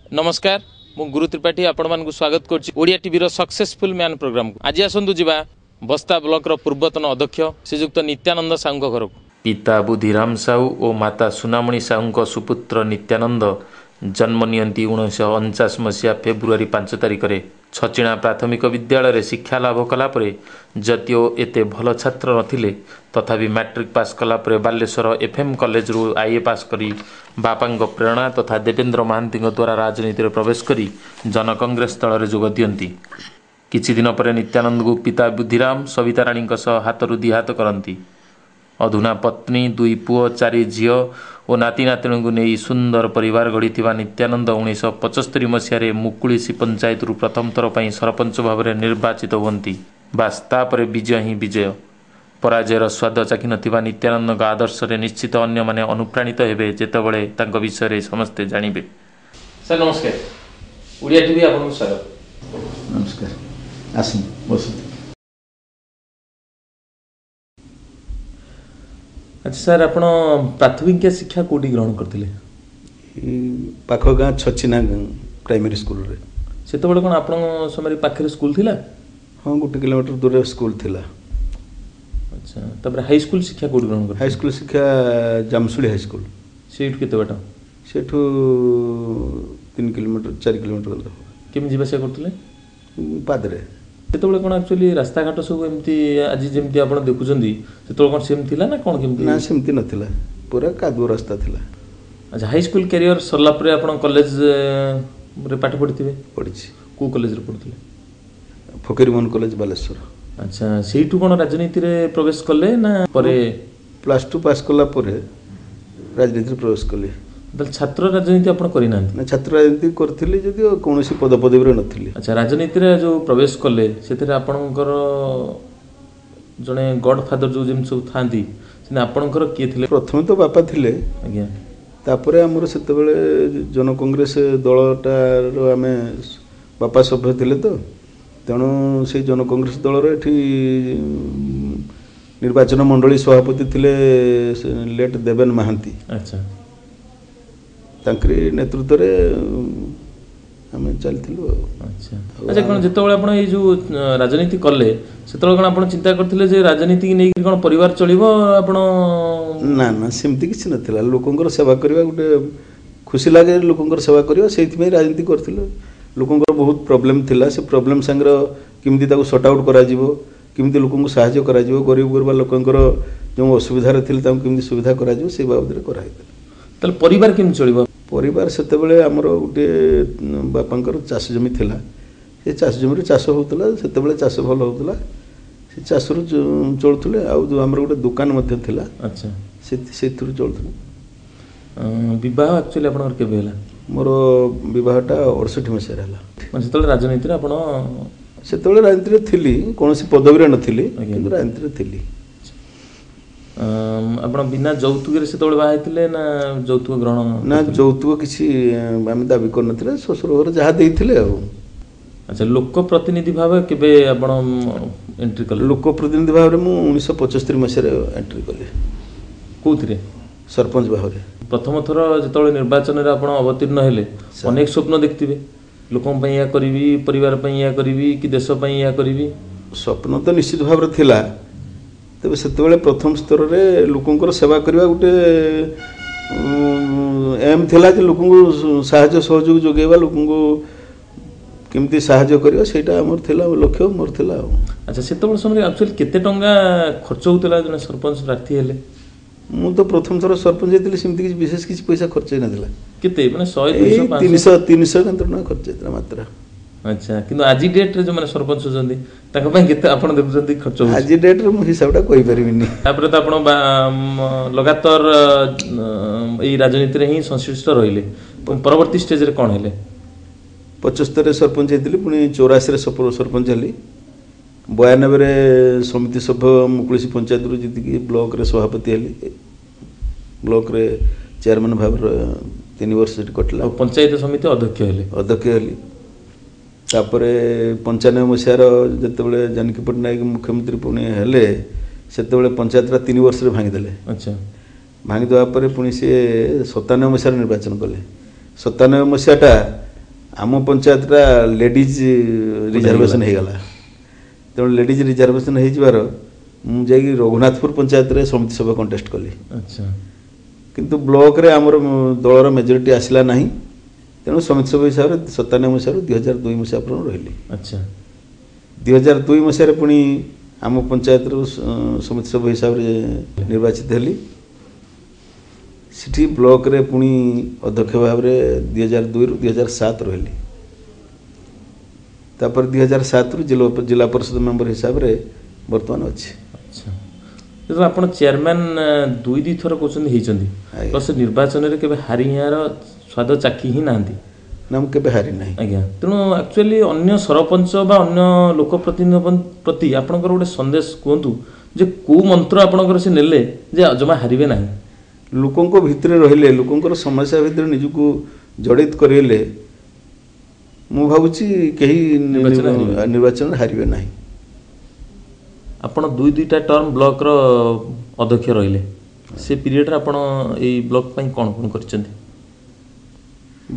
ନମସ୍କାର, ମୁଁ ଗୁରୁ ତ୍ରିପାଠୀ ଆପଣମାନଙ୍କୁ ସ୍ୱାଗତ କରୁଛି ଓଡ଼ିଆ ଟିଭିର ସକ୍ସେସଫୁଲ୍ ମ୍ୟାନ୍ ପ୍ରୋଗ୍ରାମକୁ। ଆଜି ଆସନ୍ତୁ ଯିବା ବସ୍ତା ବ୍ଲକର ପୂର୍ବତନ ଅଧ୍ୟକ୍ଷ ଶ୍ରୀଯୁକ୍ତ ନିତ୍ୟାନନ୍ଦ ସାହୁଙ୍କ ଘରକୁ। ପିତା ବୁଦ୍ଧିରାମ ସାହୁ ଓ ମାତା ସୁନାମଣି ସାହୁଙ୍କ ସୁପୁତ୍ର ନିତ୍ୟାନନ୍ଦ ଜନ୍ମ ନିଅନ୍ତି 1949 ମସିହା ଫେବୃଆରୀ 5 ତାରିଖରେ। ଛଚିଣା ପ୍ରାଥମିକ ବିଦ୍ୟାଳୟରେ ଶିକ୍ଷା ଲାଭ କଲା ପରେ ଯଦିଓ ଏତେ ଭଲ ଛାତ୍ର ନଥିଲେ, ତଥାପି ମାଟ୍ରିକ ପାସ୍ କଲା ପରେ ବାଲେଶ୍ୱର ଏଫ୍ ଏମ୍ କଲେଜରୁ ଆଇଏ ପାସ୍ କରି ବାପାଙ୍କ ପ୍ରେରଣା ତଥା ଦେବେନ୍ଦ୍ର ମହାନ୍ତିଙ୍କ ଦ୍ୱାରା ରାଜନୀତିରେ ପ୍ରବେଶ କରି ଜନକଂଗ୍ରେସ ଦଳରେ ଯୋଗ ଦିଅନ୍ତି। କିଛି ଦିନ ପରେ ନିତ୍ୟାନନ୍ଦଙ୍କୁ ପିତା ବୁଦ୍ଧିରାମ ସବିତା ରାଣୀଙ୍କ ସହ ହାତରୁ ଦି ହାତ କରନ୍ତି। ଅଧୁନା ପତ୍ନୀ, 2 ପୁଅ, 4 ଝିଅ ଓ ନାତି ନାତୁଣୀଙ୍କୁ ନେଇ ସୁନ୍ଦର ପରିବାର ଗଢ଼ିଥିବା ନିତ୍ୟାନନ୍ଦ 1975 ମସିହାରେ ମୁକୁଳିସି ପଞ୍ଚାୟତରୁ ପ୍ରଥମ ଥର ପାଇଁ ସରପଞ୍ଚ ଭାବରେ ନିର୍ବାଚିତ ହୁଅନ୍ତି। ବାସ୍, ତାପରେ ବିଜୟ ହିଁ ବିଜୟ। ପରାଜୟର ସ୍ୱାଦ ଚାଖିନଥିବା ନିତ୍ୟାନନ୍ଦଙ୍କ ଆଦର୍ଶରେ ନିଶ୍ଚିତ ଅନ୍ୟମାନେ ଅନୁପ୍ରାଣିତ ହେବେ, ଯେତେବେଳେ ତାଙ୍କ ବିଷୟରେ ସମସ୍ତେ ଜାଣିବେ। ସାର୍ ନମସ୍କାର, ଓଡ଼ିଆ ଟିଭି ଆପଣଙ୍କୁ ସ୍ୱାଗତ। ନମସ୍କାର, ଆସନ୍ତୁ ବସନ୍ତୁ। ଆଚ୍ଛା ସାର୍, ଆପଣ ପ୍ରାଥମିକ ଶିକ୍ଷା କେଉଁଠି ଗ୍ରହଣ କରିଥିଲେ? ଏଇ ପାଖ ଗାଁ ଛଚିନା ପ୍ରାଇମେରୀ ସ୍କୁଲରେ। ସେତେବେଳେ କ'ଣ ଆପଣଙ୍କ ସମୟରେ ପାଖରେ ସ୍କୁଲ ଥିଲା? ହଁ, 1 କିଲୋମିଟର ଦୂରରେ ସ୍କୁଲ ଥିଲା। ଆଚ୍ଛା, ତାପରେ ହାଇସ୍କୁଲ ଶିକ୍ଷା କେଉଁଠି ଗ୍ରହଣ କରିଥିଲେ? ହାଇସ୍କୁଲ ଶିକ୍ଷା ଜାମସୁଳି ହାଇସ୍କୁଲ। ସେଇଠୁ କେତେ ବାଟ? ସେଠୁ 3 କିଲୋମିଟର 4 କିଲୋମିଟର ହେବ। କେମିତି ଯିବା ଆସିବା କରୁଥିଲେ? ପାଦରେ। ସେତେବେଳେ କ'ଣ ଆକ୍ଚୁଆଲି ରାସ୍ତାଘାଟ ସବୁ ଏମିତି ଆଜି ଯେମିତି ଆପଣ ଦେଖୁଛନ୍ତି, ସେତେବେଳେ କ'ଣ ସେମିତି ଥିଲା ନା କ'ଣ କେମିତି? ନା, ସେମିତି ନଥିଲା, ପୁରା କାଦୁଅ ରାସ୍ତା ଥିଲା। ଆଚ୍ଛା, ହାଇସ୍କୁଲ କ୍ୟାରିୟର ସରିଲା ପରେ ଆପଣ କଲେଜରେ ପାଠ ପଢ଼ିଥିବେ? ପଢ଼ିଛି। କେଉଁ କଲେଜରେ ପଢ଼ୁଥିଲେ? ଫକୀରମୋହନ କଲେଜ, ବାଲେଶ୍ୱର। ଆଚ୍ଛା, ସେଇଠୁ କ'ଣ ରାଜନୀତିରେ ପ୍ରବେଶ କଲେ ନା ପରେ? ପ୍ଲସ୍ ଟୁ ପାସ୍ କଲା ପରେ ରାଜନୀତିରେ ପ୍ରବେଶ କଲି। ତାହେଲେ ଛାତ୍ର ରାଜନୀତି ଆପଣ କରିନାହାନ୍ତି? ନା, ଛାତ୍ର ରାଜନୀତି କରିଥିଲି, ଯଦିଓ କୌଣସି ପଦପଦବୀରେ ନଥିଲି। ଆଚ୍ଛା, ରାଜନୀତିରେ ଯେଉଁ ପ୍ରବେଶ କଲେ, ସେଥିରେ ଆପଣଙ୍କର ଜଣେ ଗଡ୍ ଫାଦର ଯେଉଁ ଯେମିତି ସବୁ ଥାଆନ୍ତି, ସେମିତି ଆପଣଙ୍କର କିଏ ଥିଲେ? ପ୍ରଥମେ ତ ବାପା ଥିଲେ। ତାପରେ ଆମର ସେତେବେଳେ ଜନ କଂଗ୍ରେସ ଦଳଟାର ଆମେ ବାପା ସଭ୍ୟ ଥିଲେ ତ, ତେଣୁ ସେଇ ଜନ କଂଗ୍ରେସ ଦଳର ଏଠି ନିର୍ବାଚନ ମଣ୍ଡଳୀ ସଭାପତି ଥିଲେ ଲେଟ୍ ଦେବେନ ମହାନ୍ତି। ତାଙ୍କରି ନେତୃତ୍ୱରେ ଆମେ ଚାଲିଥିଲୁ ଆଉ। ଆଚ୍ଛା, କ'ଣ ଯେତେବେଳେ ଆପଣ ଏଇ ଯେଉଁ ରାଜନୀତି କଲେ, ସେତେବେଳେ କ'ଣ ଆପଣ ଚିନ୍ତା କରିଥିଲେ ଯେ ରାଜନୀତିକି ନେଇକି କ'ଣ ପରିବାର ଚଳିବ ଆପଣ? ନା ନା, ସେମିତି କିଛି ନଥିଲା। ଲୋକଙ୍କର ସେବା କରିବା ଗୋଟେ ଖୁସି ଲାଗେ, ଲୋକଙ୍କର ସେବା କରିବା, ସେଇଥିପାଇଁ ରାଜନୀତି କରିଥିଲୁ। ଲୋକଙ୍କର ବହୁତ ପ୍ରୋବ୍ଲେମ୍ ଥିଲା, ସେ ପ୍ରୋବ୍ଲେମ୍ ସାଙ୍ଗରେ କେମିତି ତାକୁ ସର୍ଟ ଆଉଟ୍ କରାଯିବ, କେମିତି ଲୋକଙ୍କୁ ସାହାଯ୍ୟ କରାଯିବ, ଗରିବ ଗୁରୁବା ଲୋକଙ୍କର ଯେଉଁ ଅସୁବିଧାରେ ଥିଲେ ତାଙ୍କୁ କେମିତି ସୁବିଧା କରାଯିବ, ସେଇ ବାବଦରେ କରାହେଇଥିଲା। ତାହେଲେ ପରିବାର କେମିତି ଚଳିବ? ପରିବାର ସେତେବେଳେ ଆମର ଗୋଟିଏ ବାପାଙ୍କର ଚାଷ ଜମି ଥିଲା, ସେ ଚାଷ ଜମିରେ ଚାଷ ହେଉଥିଲା। ସେତେବେଳେ ଚାଷ ଭଲ ହେଉଥିଲା, ସେ ଚାଷରୁ ଚଳୁଥିଲେ। ଆଉ ଆମର ଗୋଟେ ଦୋକାନ ମଧ୍ୟ ଥିଲା। ସେଥିରୁ ଚଳୁଥିଲେ। ବିବାହ ଆକ୍ଚୁଆଲି ଆପଣଙ୍କର କେବେ ହେଲା? ମୋର ବିବାହଟା 68 ମସିହାରେ ହେଲା। ମାନେ ସେତେବେଳେ ରାଜନୀତିରେ ଆପଣ? ସେତେବେଳେ ରାଜନୀତିରେ ଥିଲି, କୌଣସି ପଦବୀରେ ନଥିଲି, କିନ୍ତୁ ରାଜନୀତିରେ ଥିଲି। ଆପଣ ବିନା ଯୌତୁକରେ ସେତେବେଳେ ବାହା ହେଇଥିଲେ ନା ଯୌତୁକ ଗ୍ରହଣ? ନା, ଯୌତୁକ କିଛି ଆମେ ଦାବି କରିନଥିଲେ, ଶ୍ୱଶୁର ଘର ଯାହା ଦେଇଥିଲେ ଆଉ। ଆଚ୍ଛା, ଲୋକ ପ୍ରତିନିଧି ଭାବେ କେବେ ଆପଣ ଏଣ୍ଟ୍ରି କଲେ? ଲୋକ ପ୍ରତିନିଧି ଭାବରେ ମୁଁ 1975 ମସିହାରେ ଏଣ୍ଟ୍ରି କଲି। କେଉଁଥିରେ? ସରପଞ୍ଚ ଭାବରେ। ପ୍ରଥମ ଥର ଯେତେବେଳେ ନିର୍ବାଚନରେ ଆପଣ ଅବତୀର୍ଣ୍ଣ ହେଲେ, ଅନେକ ସ୍ୱପ୍ନ ଦେଖିଥିବେ, ଲୋକଙ୍କ ପାଇଁ ଏହା କରିବି, ପରିବାର ପାଇଁ ଏହା କରିବି କି ଦେଶ ପାଇଁ ଏହା କରିବି? ସ୍ୱପ୍ନ ତ ନିଶ୍ଚିତ ଭାବରେ ଥିଲା। ତେବେ ସେତେବେଳେ ପ୍ରଥମ ସ୍ତରରେ ଲୋକଙ୍କର ସେବା କରିବା ଗୋଟେ ଏମ୍ ଥିଲା ଯେ ଲୋକଙ୍କୁ ସାହାଯ୍ୟ ସହଯୋଗ ଯୋଗାଇବା, ଲୋକଙ୍କୁ କେମିତି ସାହାଯ୍ୟ କରିବା, ସେଇଟା ଆମର ଥିଲା ଲକ୍ଷ୍ୟ, ମୋର ଥିଲା ଆଉ। ଆଚ୍ଛା, ସେତେବେଳେ ସମୟରେ ଆକ୍ଚୁଆଲି କେତେ ଟଙ୍କା ଖର୍ଚ୍ଚ ହେଉଥିଲା ଜଣେ ସରପଞ୍ଚ ପ୍ରାର୍ଥୀ ହେଲେ? ମୁଁ ତ ପ୍ରଥମ ଥର ସରପଞ୍ଚ ହେଇଥିଲି, ସେମିତି କିଛି ବିଶେଷ କିଛି ପଇସା ଖର୍ଚ୍ଚ ହେଇନଥିଲା। କେତେ, ମାନେ 100, 200? 300 କେତେ ଟଙ୍କା ଖର୍ଚ୍ଚ ହେଇଥିଲା ମାତ୍ର। ଆଚ୍ଛା, କିନ୍ତୁ ଆଜି ଡେଟ୍ରେ ଯେଉଁମାନେ ସରପଞ୍ଚ ଅଛନ୍ତି, ତାଙ୍କ ପାଇଁ କେତେ ଆପଣ ଦେଖୁଛନ୍ତି ଖର୍ଚ୍ଚ ହେଉଛି? ଆଜି ଡେଟ୍ରେ ମୁଁ ହିସାବଟା କହିପାରିବିନି। ତାପରେ ତ ଆପଣ ଲଗାତାର ଏଇ ରାଜନୀତିରେ ହିଁ ସଂଶ୍ଳିଷ୍ଟ ରହିଲେ। ପରବର୍ତ୍ତୀ ଷ୍ଟେଜରେ କ'ଣ ହେଲେ? 75ରେ ସରପଞ୍ଚ ହେଇଥିଲି, ପୁଣି 84ରେ ସରପଞ୍ଚ ହେଲି, 92ରେ ସମିତି ସଭ୍ୟ ମୁକୁଳିସି ପଞ୍ଚାୟତରୁ ଜିତିକି ବ୍ଲକରେ ସଭାପତି ହେଲି। ବ୍ଲକରେ ଚେୟାରମ୍ୟାନ୍ ଭାବରେ 3 ବର୍ଷ ସେଠି କଟିଲା। ଆଉ ପଞ୍ଚାୟତ ସମିତି ଅଧ୍ୟକ୍ଷ ହେଲେ? ଅଧ୍ୟକ୍ଷ ହେଲି। ତାପରେ 95 ମସିହାର ଯେତେବେଳେ ଜାନକୀ ପଟ୍ଟନାୟକ ମୁଖ୍ୟମନ୍ତ୍ରୀ ପୁଣି ହେଲେ, ସେତେବେଳେ ପଞ୍ଚାୟତଟା 3 ବର୍ଷରେ ଭାଙ୍ଗିଦେଲେ। ଭାଙ୍ଗିଦେବା ପରେ ପୁଣି ସିଏ 97 ମସିହାରେ ନିର୍ବାଚନ କଲେ। 97 ମସିହାଟା ଆମ ପଞ୍ଚାୟତଟା ଲେଡ଼ିଜ୍ ରିଜର୍ଭେସନ୍ ହେଇଗଲା। ତେଣୁ ଲେଡ଼ିଜ୍ ରିଜର୍ଭେସନ୍ ହେଇଯିବାର ମୁଁ ଯାଇକି ରଘୁନାଥପୁର ପଞ୍ଚାୟତରେ ସମିତି ସଭ୍ୟ କଣ୍ଟେଷ୍ଟ କଲି। ଆଚ୍ଛା। କିନ୍ତୁ ବ୍ଲକରେ ଆମର ଦଳର ମେଜରିଟି ଆସିଲା ନାହିଁ, ତେଣୁ ସମିତି ସଭ୍ୟ ହିସାବରେ 97 ମସିହାରୁ 2002 ମସିହା ପର୍ଯ୍ୟନ୍ତ ରହିଲି। ଆଚ୍ଛା। 2002 ମସିହାରେ ପୁଣି ଆମ ପଞ୍ଚାୟତରୁ ସମିତି ସଭ୍ୟ ହିସାବରେ ନିର୍ବାଚିତ ହେଲି। ସେଠି ବ୍ଲକରେ ପୁଣି ଅଧ୍ୟକ୍ଷ ଭାବରେ 2002ରୁ 2007 ରହିଲି। ତାପରେ 2007ରୁ ଜିଲ୍ଲା ପରିଷଦ ମେମ୍ବର ହିସାବରେ ବର୍ତ୍ତମାନ ଅଛି। ଆଚ୍ଛା, ଯେତେବେଳେ ଆପଣ ଚେୟାରମ୍ୟାନ୍ ଦୁଇ ଥର କହୁଛନ୍ତି ହେଇଛନ୍ତି, ଆଜ୍ଞା। ପ୍ଲସ୍ ନିର୍ବାଚନରେ କେବେ ହାରିବାର ସ୍ୱାଦ ଚାଖି ହିଁ ନାହାନ୍ତି। ନା, ମୁଁ କେବେ ହାରି ନାହିଁ। ଆଜ୍ଞା, ତେଣୁ ଆକ୍ଚୁଆଲି ଅନ୍ୟ ସରପଞ୍ଚ ବା ଅନ୍ୟ ଲୋକ ପ୍ରତିନିଧିଙ୍କ ପ୍ରତି ଆପଣଙ୍କର ଗୋଟେ ସନ୍ଦେଶ କୁହନ୍ତୁ ଯେ କୋଉ ମନ୍ତ୍ର ଆପଣଙ୍କର ସେ ନେଲେ ଯେ ଜମା ହାରିବେ ନାହିଁ? ଲୋକଙ୍କ ଭିତରେ ରହିଲେ, ଲୋକଙ୍କର ସମସ୍ୟା ଭିତରେ ନିଜକୁ ଜଡ଼ିତ କରେଇଲେ ମୁଁ ଭାବୁଛି କେହି ନିର୍ବାଚନରେ ହାରିବେ। ନିର୍ବାଚନରେ ହାରିବେ ନାହିଁ। ଆପଣ ଦୁଇଟା ଟର୍ମ ବ୍ଲକର ଅଧ୍ୟକ୍ଷ ରହିଲେ, ସେ ପିରିୟଡ଼ରେ ଆପଣ ଏଇ ବ୍ଲକ ପାଇଁ କ'ଣ କ'ଣ କରିଛନ୍ତି?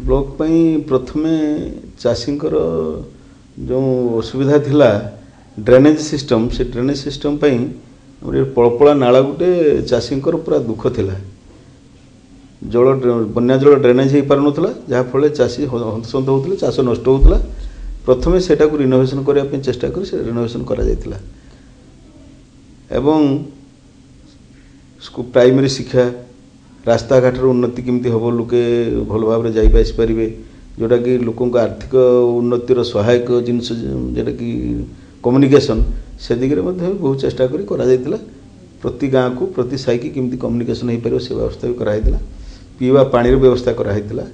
ବ୍ଲକ ପାଇଁ ପ୍ରଥମେ ଚାଷୀଙ୍କର ଯେଉଁ ଅସୁବିଧା ଥିଲା ଡ୍ରେନେଜ୍ ସିଷ୍ଟମ୍, ସେ ଡ୍ରେନେଜ୍ ସିଷ୍ଟମ୍ ପାଇଁ ଆମର ଏ ପଳପଳା ନାଳ ଗୋଟେ ଚାଷୀଙ୍କର ପୁରା ଦୁଃଖ ଥିଲା। ଜଳ ବନ୍ୟା ଜଳ ଡ୍ରେନେଜ୍ ହେଇପାରୁନଥିଲା, ଯାହାଫଳରେ ଚାଷୀ ହନ୍ତସନ୍ତ ହେଉଥିଲେ, ଚାଷ ନଷ୍ଟ ହେଉଥିଲା। ପ୍ରଥମେ ସେଟାକୁ ରିନୋଭେସନ୍ କରିବା ପାଇଁ ଚେଷ୍ଟା କରି ସେ ରିନୋଭେସନ୍ କରାଯାଇଥିଲା। ଏବଂ ପ୍ରାଇମେରୀ ଶିକ୍ଷା, ରାସ୍ତାଘାଟର ଉନ୍ନତି କେମିତି ହେବ, ଲୋକେ ଭଲ ଭାବରେ ଯାଇ ଆସିପାରିବେ, ଯେଉଁଟାକି ଲୋକଙ୍କ ଆର୍ଥିକ ଉନ୍ନତିର ସହାୟକ ଜିନିଷ, ଯେଉଁଟାକି କମ୍ୟୁନିକେସନ୍, ସେ ଦିଗରେ ମଧ୍ୟ ବହୁତ ଚେଷ୍ଟା କରି କରାଯାଇଥିଲା। ପ୍ରତି ଗାଁକୁ, ପ୍ରତି ସାହିକି କେମିତି କମ୍ୟୁନିକେସନ୍ ହେଇପାରିବ ସେ ବ୍ୟବସ୍ଥା ବି କରାହେଇଥିଲା। ପିଇବା ପାଣିର ବ୍ୟବସ୍ଥା କରାହେଇଥିଲା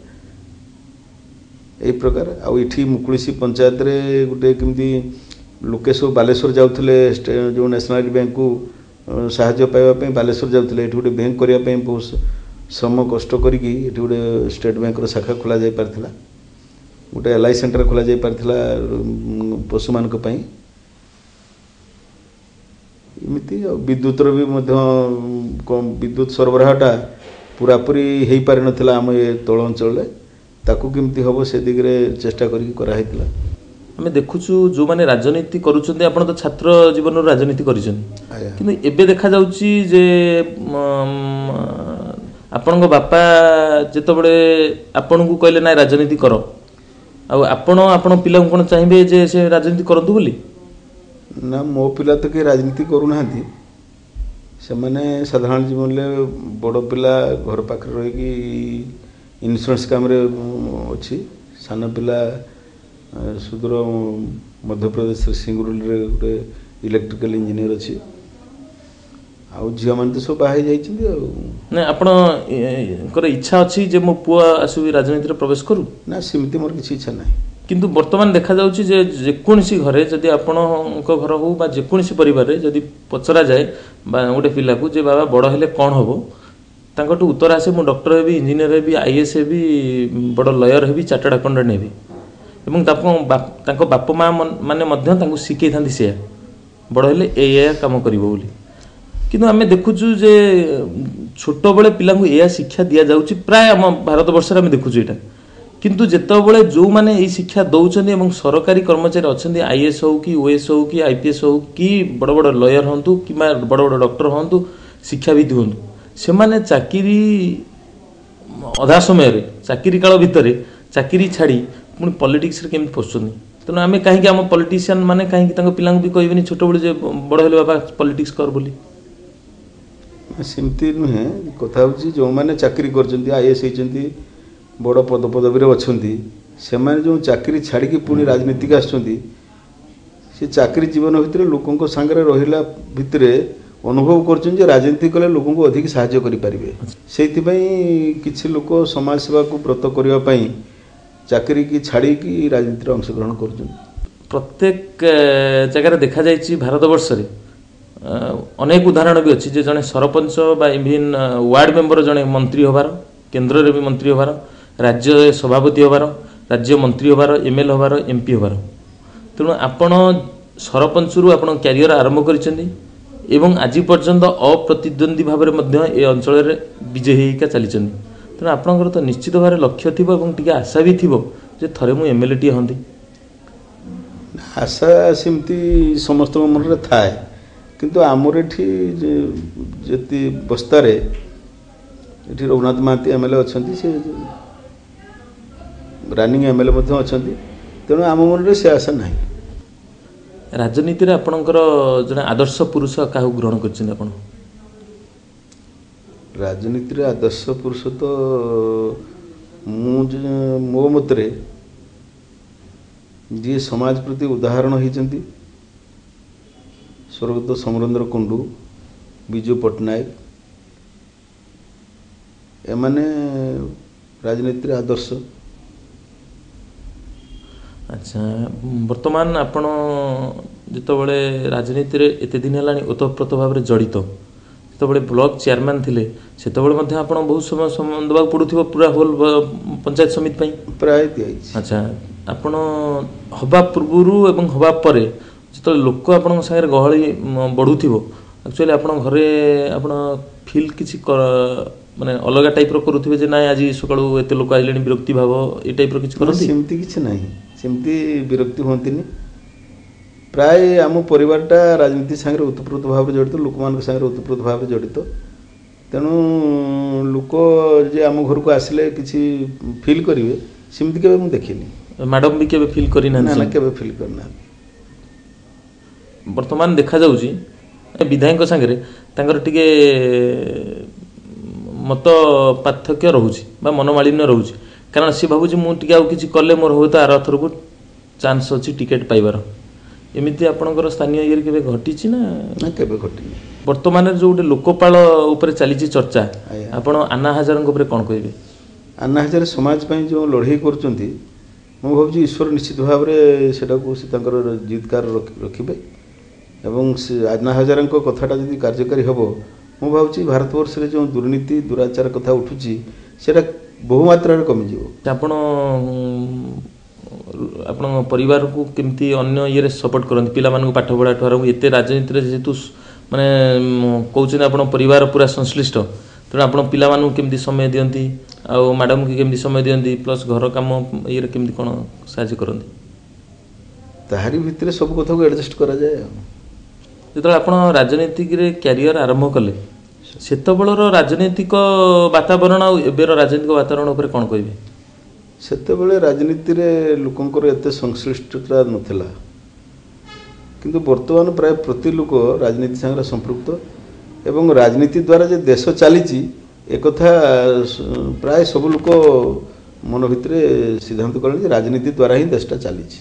ଏଇ ପ୍ରକାର। ଆଉ ଏଠି ମୁକୁଳିଶି ପଞ୍ଚାୟତରେ ଗୋଟେ କେମିତି ଲୋକେ ସବୁ ବାଲେଶ୍ୱର ଯାଉଥିଲେ, ଯେଉଁ ନ୍ୟାସନାଲାଇଜ୍ ବ୍ୟାଙ୍କକୁ ସାହାଯ୍ୟ ପାଇବା ପାଇଁ ବାଲେଶ୍ୱର ଯାଉଥିଲେ, ଏଠି ଗୋଟେ ବ୍ୟାଙ୍କ କରିବା ପାଇଁ ବହୁତ ଶ୍ରମ କଷ୍ଟ କରିକି ଏଠି ଗୋଟେ ଷ୍ଟେଟ୍ ବ୍ୟାଙ୍କର ଶାଖା ଖୋଲା ଯାଇପାରିଥିଲା, ଗୋଟେ ଏଲ୍ I centre ଖୋଲା ଯାଇପାରିଥିଲା ପଶୁମାନଙ୍କ ପାଇଁ। ଏମିତି ଆଉ ବିଦ୍ୟୁତର ବି ମଧ୍ୟ ବିଦ୍ୟୁତ ସରବରାହଟା ପୁରାପୁରି ହେଇପାରିନଥିଲା ଆମ ଏ ତଳ ଅଞ୍ଚଳରେ, ତାକୁ କେମିତି ହେବ ସେ ଦିଗରେ ଚେଷ୍ଟା କରିକି କରାହେଇଥିଲା। ଆମେ ଦେଖୁଛୁ ଯେଉଁମାନେ ରାଜନୀତି କରୁଛନ୍ତି, ଆପଣ ତ ଛାତ୍ର ଜୀବନରୁ ରାଜନୀତି କରିଛନ୍ତି, ଆଜ୍ଞା। କିନ୍ତୁ ଏବେ ଦେଖାଯାଉଛି ଯେ ଆପଣଙ୍କ ବାପା ଯେତେବେଳେ ଆପଣଙ୍କୁ କହିଲେ ନାଇଁ ରାଜନୀତି କର, ଆଉ ଆପଣ ଆପଣ ପିଲାଙ୍କୁ କ'ଣ ଚାହିଁବେ ଯେ ସେ ରାଜନୀତି କରନ୍ତୁ ବୋଲି? ନା, ମୋ ପିଲା ତ କେହି ରାଜନୀତି କରୁନାହାନ୍ତି। ସେମାନେ ସାଧାରଣ ଜୀବନରେ, ବଡ଼ ପିଲା ଘର ପାଖରେ ରହିକି ଇନ୍ସୁରାନ୍ସ କାମରେ ଅଛି, ସାନ ପିଲା ସୁଦୂର ମଧ୍ୟପ୍ରଦେଶରେ ସିଙ୍ଗୁରୁଲିରେ ଗୋଟେ ଇଲେକ୍ଟ୍ରିକାଲ ଇଞ୍ଜିନିୟର ଅଛି, ଆଉ ଝିଅମାନେ ତ ସବୁ ବାହା ହେଇଯାଇଛନ୍ତି। ଆଉ ନାଇଁ, ଆପଣଙ୍କର ଇଚ୍ଛା ଅଛି ଯେ ମୋ ପୁଅ ଆସିବି ରାଜନୀତିରେ ପ୍ରବେଶ କରୁ? ନା, ସେମିତି ମୋର କିଛି ଇଚ୍ଛା ନାହିଁ। କିନ୍ତୁ ବର୍ତ୍ତମାନ ଦେଖାଯାଉଛି ଯେ ଯେକୌଣସି ଘରେ, ଯଦି ଆପଣଙ୍କ ଘର ହଉ ବା ଯେକୌଣସି ପରିବାରରେ ଯଦି ପଚରାଯାଏ ବା ଗୋଟେ ପିଲାକୁ ଯେ ବାବା ବଡ଼ ହେଲେ କ'ଣ ହେବ, ତାଙ୍କଠୁ ଉତ୍ତର ଆସେ ମୁଁ ଡକ୍ଟର ହେବି, ଇଞ୍ଜିନିୟର ହେବି, I S ହେବି, ବଡ଼ ଲୟର ହେବି, ଚାର୍ଟାର୍ଡ ଆକାଉଣ୍ଟାଣ୍ଟ ହେବି। ଏବଂ ତାଙ୍କ ବାପା ମା ମାନେ ମଧ୍ୟ ତାଙ୍କୁ ଶିଖେଇଥାନ୍ତି ସେୟା, ବଡ଼ ହେଲେ ଏଇଆ କାମ କରିବ ବୋଲି। କିନ୍ତୁ ଆମେ ଦେଖୁଛୁ ଯେ ଛୋଟବେଳେ ପିଲାଙ୍କୁ ଏଇଆ ଶିକ୍ଷା ଦିଆଯାଉଛି, ପ୍ରାୟ ଆମ ଭାରତବର୍ଷରେ ଆମେ ଦେଖୁଛୁ ଏଇଟା। କିନ୍ତୁ ଯେତେବେଳେ ଯେଉଁମାନେ ଏଇ ଶିକ୍ଷା ଦେଉଛନ୍ତି ଏବଂ ସରକାରୀ କର୍ମଚାରୀ ଅଛନ୍ତି, I S ହଉ କି ଓ ଏସ୍ ହଉ କି I P S ହଉ କି ବଡ଼ ବଡ଼ ଲୟର ହୁଅନ୍ତୁ କିମ୍ବା ବଡ଼ ବଡ଼ ଡକ୍ଟର ହୁଅନ୍ତୁ, ଶିକ୍ଷାବିତ୍ ହୁଅନ୍ତୁ, ସେମାନେ ଚାକିରି ଅଧା ସମୟରେ, ଚାକିରି କାଳ ଭିତରେ ଚାକିରି ଛାଡ଼ି ପୁଣି ପଲିଟିକ୍ସରେ କେମିତି ପଶୁଛନ୍ତି? ତେଣୁ ଆମେ କାହିଁକି ଆମ ପଲିଟିସିଆନ୍ ମାନେ କାହିଁକି ତାଙ୍କ ପିଲାଙ୍କୁ ବି କହିବେନି ଛୋଟବେଳୁ ଯେ ବଡ଼ ହେଲେ ବାବା ପଲିଟିକ୍ସ କର ବୋଲି? ସେମିତି ନୁହେଁ, କଥା ହେଉଛି ଯେଉଁମାନେ ଚାକିରି କରିଛନ୍ତି, I S ହେଇଛନ୍ତି, ବଡ଼ ପଦପଦବୀରେ ଅଛନ୍ତି, ସେମାନେ ଯେଉଁ ଚାକିରି ଛାଡ଼ିକି ପୁଣି ରାଜନୀତିକୁ ଆସୁଛନ୍ତି, ସେ ଚାକିରି ଜୀବନ ଭିତରେ ଲୋକଙ୍କ ସାଙ୍ଗରେ ରହିଲା ଭିତରେ ଅନୁଭବ କରୁଛନ୍ତି ଯେ ରାଜନୀତି କଲେ ଲୋକଙ୍କୁ ଅଧିକ ସାହାଯ୍ୟ କରିପାରିବେ। ସେଇଥିପାଇଁ କିଛି ଲୋକ ସମାଜ ସେବାକୁ ବ୍ରତ କରିବା ପାଇଁ ଚାକିରିକି ଛାଡ଼ିକି ରାଜନୀତିରେ ଅଂଶଗ୍ରହଣ କରୁଛନ୍ତି। ପ୍ରତ୍ୟେକ ଜାଗାରେ ଦେଖାଯାଇଛି ଭାରତବର୍ଷରେ ଅନେକ ଉଦାହରଣ ବି ଅଛି ଯେ ଜଣେ ସରପଞ୍ଚ ବା ଇଭିନ୍ ୱାର୍ଡ଼ ମେମ୍ବର ଜଣେ ମନ୍ତ୍ରୀ ହେବାର, କେନ୍ଦ୍ରରେ ବି ମନ୍ତ୍ରୀ ହେବାର, ରାଜ୍ୟ ସଭାପତି ହେବାର, ରାଜ୍ୟ ମନ୍ତ୍ରୀ ହେବାର, ଏମ୍ ଏଲ୍ ହେବାର, ଏମ୍ ପି ହେବାର। ତେଣୁ ଆପଣ ସରପଞ୍ଚରୁ ଆପଣ କ୍ୟାରିୟର ଆରମ୍ଭ କରିଛନ୍ତି ଏବଂ ଆଜି ପର୍ଯ୍ୟନ୍ତ ଅପ୍ରତିଦ୍ୱନ୍ଦ୍ୱୀ ଭାବରେ ମଧ୍ୟ ଏ ଅଞ୍ଚଳରେ ବିଜୟୀ ହେଇକା ଚାଲିଛନ୍ତି। ତେଣୁ ଆପଣଙ୍କର ତ ନିଶ୍ଚିତ ଭାବରେ ଲକ୍ଷ୍ୟ ଥିବ ଏବଂ ଟିକେ ଆଶା ବି ଥିବ ଯେ ଥରେ ମୁଁ ଏମ୍ଏଲ୍ଏଟିଏ ହୁଅନ୍ତି? ଆଶା ସେମିତି ସମସ୍ତଙ୍କ ମନରେ ଥାଏ, କିନ୍ତୁ ଆମର ଏଠି ଯେତି ବସ୍ତାରେ ଏଠି ରଘୁନାଥ ମହାନ୍ତି ଏମ୍ଏଲ୍ଏ ଅଛନ୍ତି, ସେ ରନିଂ ଏମ୍ଏଲ୍ଏ ମଧ୍ୟ ଅଛନ୍ତି, ତେଣୁ ଆମ ମନରେ ସେ ଆଶା ନାହିଁ। ରାଜନୀତିରେ ଆପଣଙ୍କର ଜଣେ ଆଦର୍ଶ ପୁରୁଷ କାହାକୁ ଗ୍ରହଣ କରିଛନ୍ତି ଆପଣ? ରାଜନୀତିରେ ଆଦର୍ଶ ପୁରୁଷ ତ ମୁଁ ମୋ ମତରେ ଯିଏ ସମାଜ ପ୍ରତି ଉଦାହରଣ ହେଇଛନ୍ତି ସ୍ୱର୍ଗତ ସମରେନ୍ଦ୍ର କୁଣ୍ଡୁ, ବିଜୁ ପଟ୍ଟନାୟକ, ଏମାନେ ରାଜନୀତିରେ ଆଦର୍ଶ। ଆଚ୍ଛା, ବର୍ତ୍ତମାନ ଆପଣ ଯେତେବେଳେ ରାଜନୀତିରେ ଏତେ ଦିନ ହେଲାଣି ଓତପ୍ରୋତ ଭାବରେ ଜଡ଼ିତ, ଯେତେବେଳେ ବ୍ଲକ ଚେୟାରମ୍ୟାନ୍ ଥିଲେ ସେତେବେଳେ ମଧ୍ୟ ଆପଣ ବହୁତ ସମୟ ଦେବାକୁ ପଡ଼ୁଥିବ ପୁରା ହୋଲ୍ ପଞ୍ଚାୟତ ସମିତି ପାଇଁ? ପ୍ରାୟ ଦିଆଯାଇଛି। ଆଚ୍ଛା, ଆପଣ ହେବା ପୂର୍ବରୁ ଏବଂ ହେବା ପରେ ଯେତେବେଳେ ଲୋକ ଆପଣଙ୍କ ସାଙ୍ଗରେ ଗହଳି ବଢ଼ୁଥିବ, ଆକ୍ଚୁଆଲି ଆପଣଙ୍କ ଘରେ ଆପଣ ଫିଲ୍ କିଛି ମାନେ ଅଲଗା ଟାଇପ୍ର କରୁଥିବେ ଯେ ନାଇଁ ଆଜି ସକାଳୁ ଏତେ ଲୋକ ଆଇଲେଣି, ବିରକ୍ତି ଭାବ ଏ ଟାଇପ୍ର କିଛି କରନ୍ତି? ସେମିତି କିଛି ନାହିଁ, ସେମିତି ବିରକ୍ତି ହୁଅନ୍ତିନି। ପ୍ରାୟ ଆମ ପରିବାରଟା ରାଜନୀତି ସାଙ୍ଗରେ ଓତପ୍ରୋତ ଭାବରେ ଜଡ଼ିତ, ଲୋକମାନଙ୍କ ସାଙ୍ଗରେ ଓତପ୍ରୋତ ଭାବରେ ଜଡ଼ିତ, ତେଣୁ ଲୋକ ଯେ ଆମ ଘରକୁ ଆସିଲେ କିଛି ଫିଲ୍ କରିବେ ସେମିତି କେବେ ମୁଁ ଦେଖିନି। ମ୍ୟାଡ଼ାମ୍ ବି କେବେ ଫିଲ୍ କରିନାହାନ୍ତି? ନା, କେବେ ଫିଲ୍ କରିନାହାନ୍ତି। ବର୍ତ୍ତମାନ ଦେଖାଯାଉଛି ବିଧାୟକଙ୍କ ସାଙ୍ଗରେ ତାଙ୍କର ଟିକେ ମତ ପାର୍ଥକ୍ୟ ରହୁଛି ବା ମନୋମାଳିନ୍ୟ ରହୁଛି, କାରଣ ସେ ଭାବୁଛି ମୁଁ ଟିକେ ଆଉ କିଛି କଲେ ମୋର ହୁଏତ ଆର ଥରକୁ ଚାନ୍ସ ଅଛି ଟିକେଟ୍ ପାଇବାର। ଏମିତି ଆପଣଙ୍କର ସ୍ଥାନୀୟ ଇଏରେ କେବେ ଘଟିଛି ନା? ନା, କେବେ ଘଟିନି। ବର୍ତ୍ତମାନରେ ଯେଉଁ ଗୋଟେ ଲୋକପାଳ ଉପରେ ଚାଲିଛି ଚର୍ଚ୍ଚା, ଆପଣ ଆନ୍ନା ହଜାରଙ୍କ ଉପରେ କ'ଣ କହିବେ? ଆନ୍ନା ହଜାରେ ସମାଜ ପାଇଁ ଯେଉଁ ଲଢ଼େଇ କରୁଛନ୍ତି, ମୁଁ ଭାବୁଛି ଈଶ୍ୱର ନିଶ୍ଚିତ ଭାବରେ ସେଟାକୁ ସେ ତାଙ୍କର ଜିଦକାର ରଖିବେ, ଏବଂ ସେ ଆନ୍ନା ହଜାରଙ୍କ କଥାଟା ଯଦି କାର୍ଯ୍ୟକାରୀ ହେବ, ମୁଁ ଭାବୁଛି ଭାରତବର୍ଷରେ ଯେଉଁ ଦୁର୍ନୀତି ଦୁରାଚାର କଥା ଉଠୁଛି ସେଇଟା ବହୁ ମାତ୍ରାରେ କମିଯିବ। ଆପଣ ଆପଣଙ୍କ ପରିବାରକୁ କେମିତି ଅନ୍ୟ ଇଏରେ ସପୋର୍ଟ କରନ୍ତି? ପିଲାମାନଙ୍କୁ ପାଠ ପଢ଼ାଠୁ ଆରମ୍ଭ ଏତେ ରାଜନୀତିରେ ଯେହେତୁ ମାନେ କହୁଛନ୍ତି ଆପଣ ପରିବାର ପୁରା ସଂଶ୍ଳିଷ୍ଟ, ତେଣୁ ଆପଣ ପିଲାମାନଙ୍କୁ କେମିତି ସମୟ ଦିଅନ୍ତି ଆଉ ମ୍ୟାଡ଼ାମକୁ କେମିତି ସମୟ ଦିଅନ୍ତି, ପ୍ଲସ୍ ଘର କାମ ଇଏରେ କେମିତି କ'ଣ ସାହାଯ୍ୟ କରନ୍ତି? ତାହାରି ଭିତରେ ସବୁ କଥାକୁ ଆଡ଼ଜଷ୍ଟ କରାଯାଏ। ଆଉ ଯେତେବେଳେ ଆପଣ ରାଜନୀତିରେ କ୍ୟାରିୟର ଆରମ୍ଭ କଲେ, ସେତେବେଳର ରାଜନୈତିକ ବାତାବରଣ ଆଉ ଏବେର ରାଜନୈତିକ ବାତାବରଣ ଉପରେ କ'ଣ କହିବେ? ସେତେବେଳେ ରାଜନୀତିରେ ଲୋକଙ୍କର ଏତେ ସଂଶ୍ଳିଷ୍ଟତା ନଥିଲା, କିନ୍ତୁ ବର୍ତ୍ତମାନ ପ୍ରାୟ ପ୍ରତି ଲୋକ ରାଜନୀତି ସାଙ୍ଗରେ ସମ୍ପୃକ୍ତ, ଏବଂ ରାଜନୀତି ଦ୍ୱାରା ଯେ ଦେଶ ଚାଲିଛି ଏକଥା ପ୍ରାୟ ସବୁ ଲୋକ ମନ ଭିତରେ ସିଦ୍ଧାନ୍ତ କଲେଣି ଯେ ରାଜନୀତି ଦ୍ୱାରା ହିଁ ଦେଶଟା ଚାଲିଛି।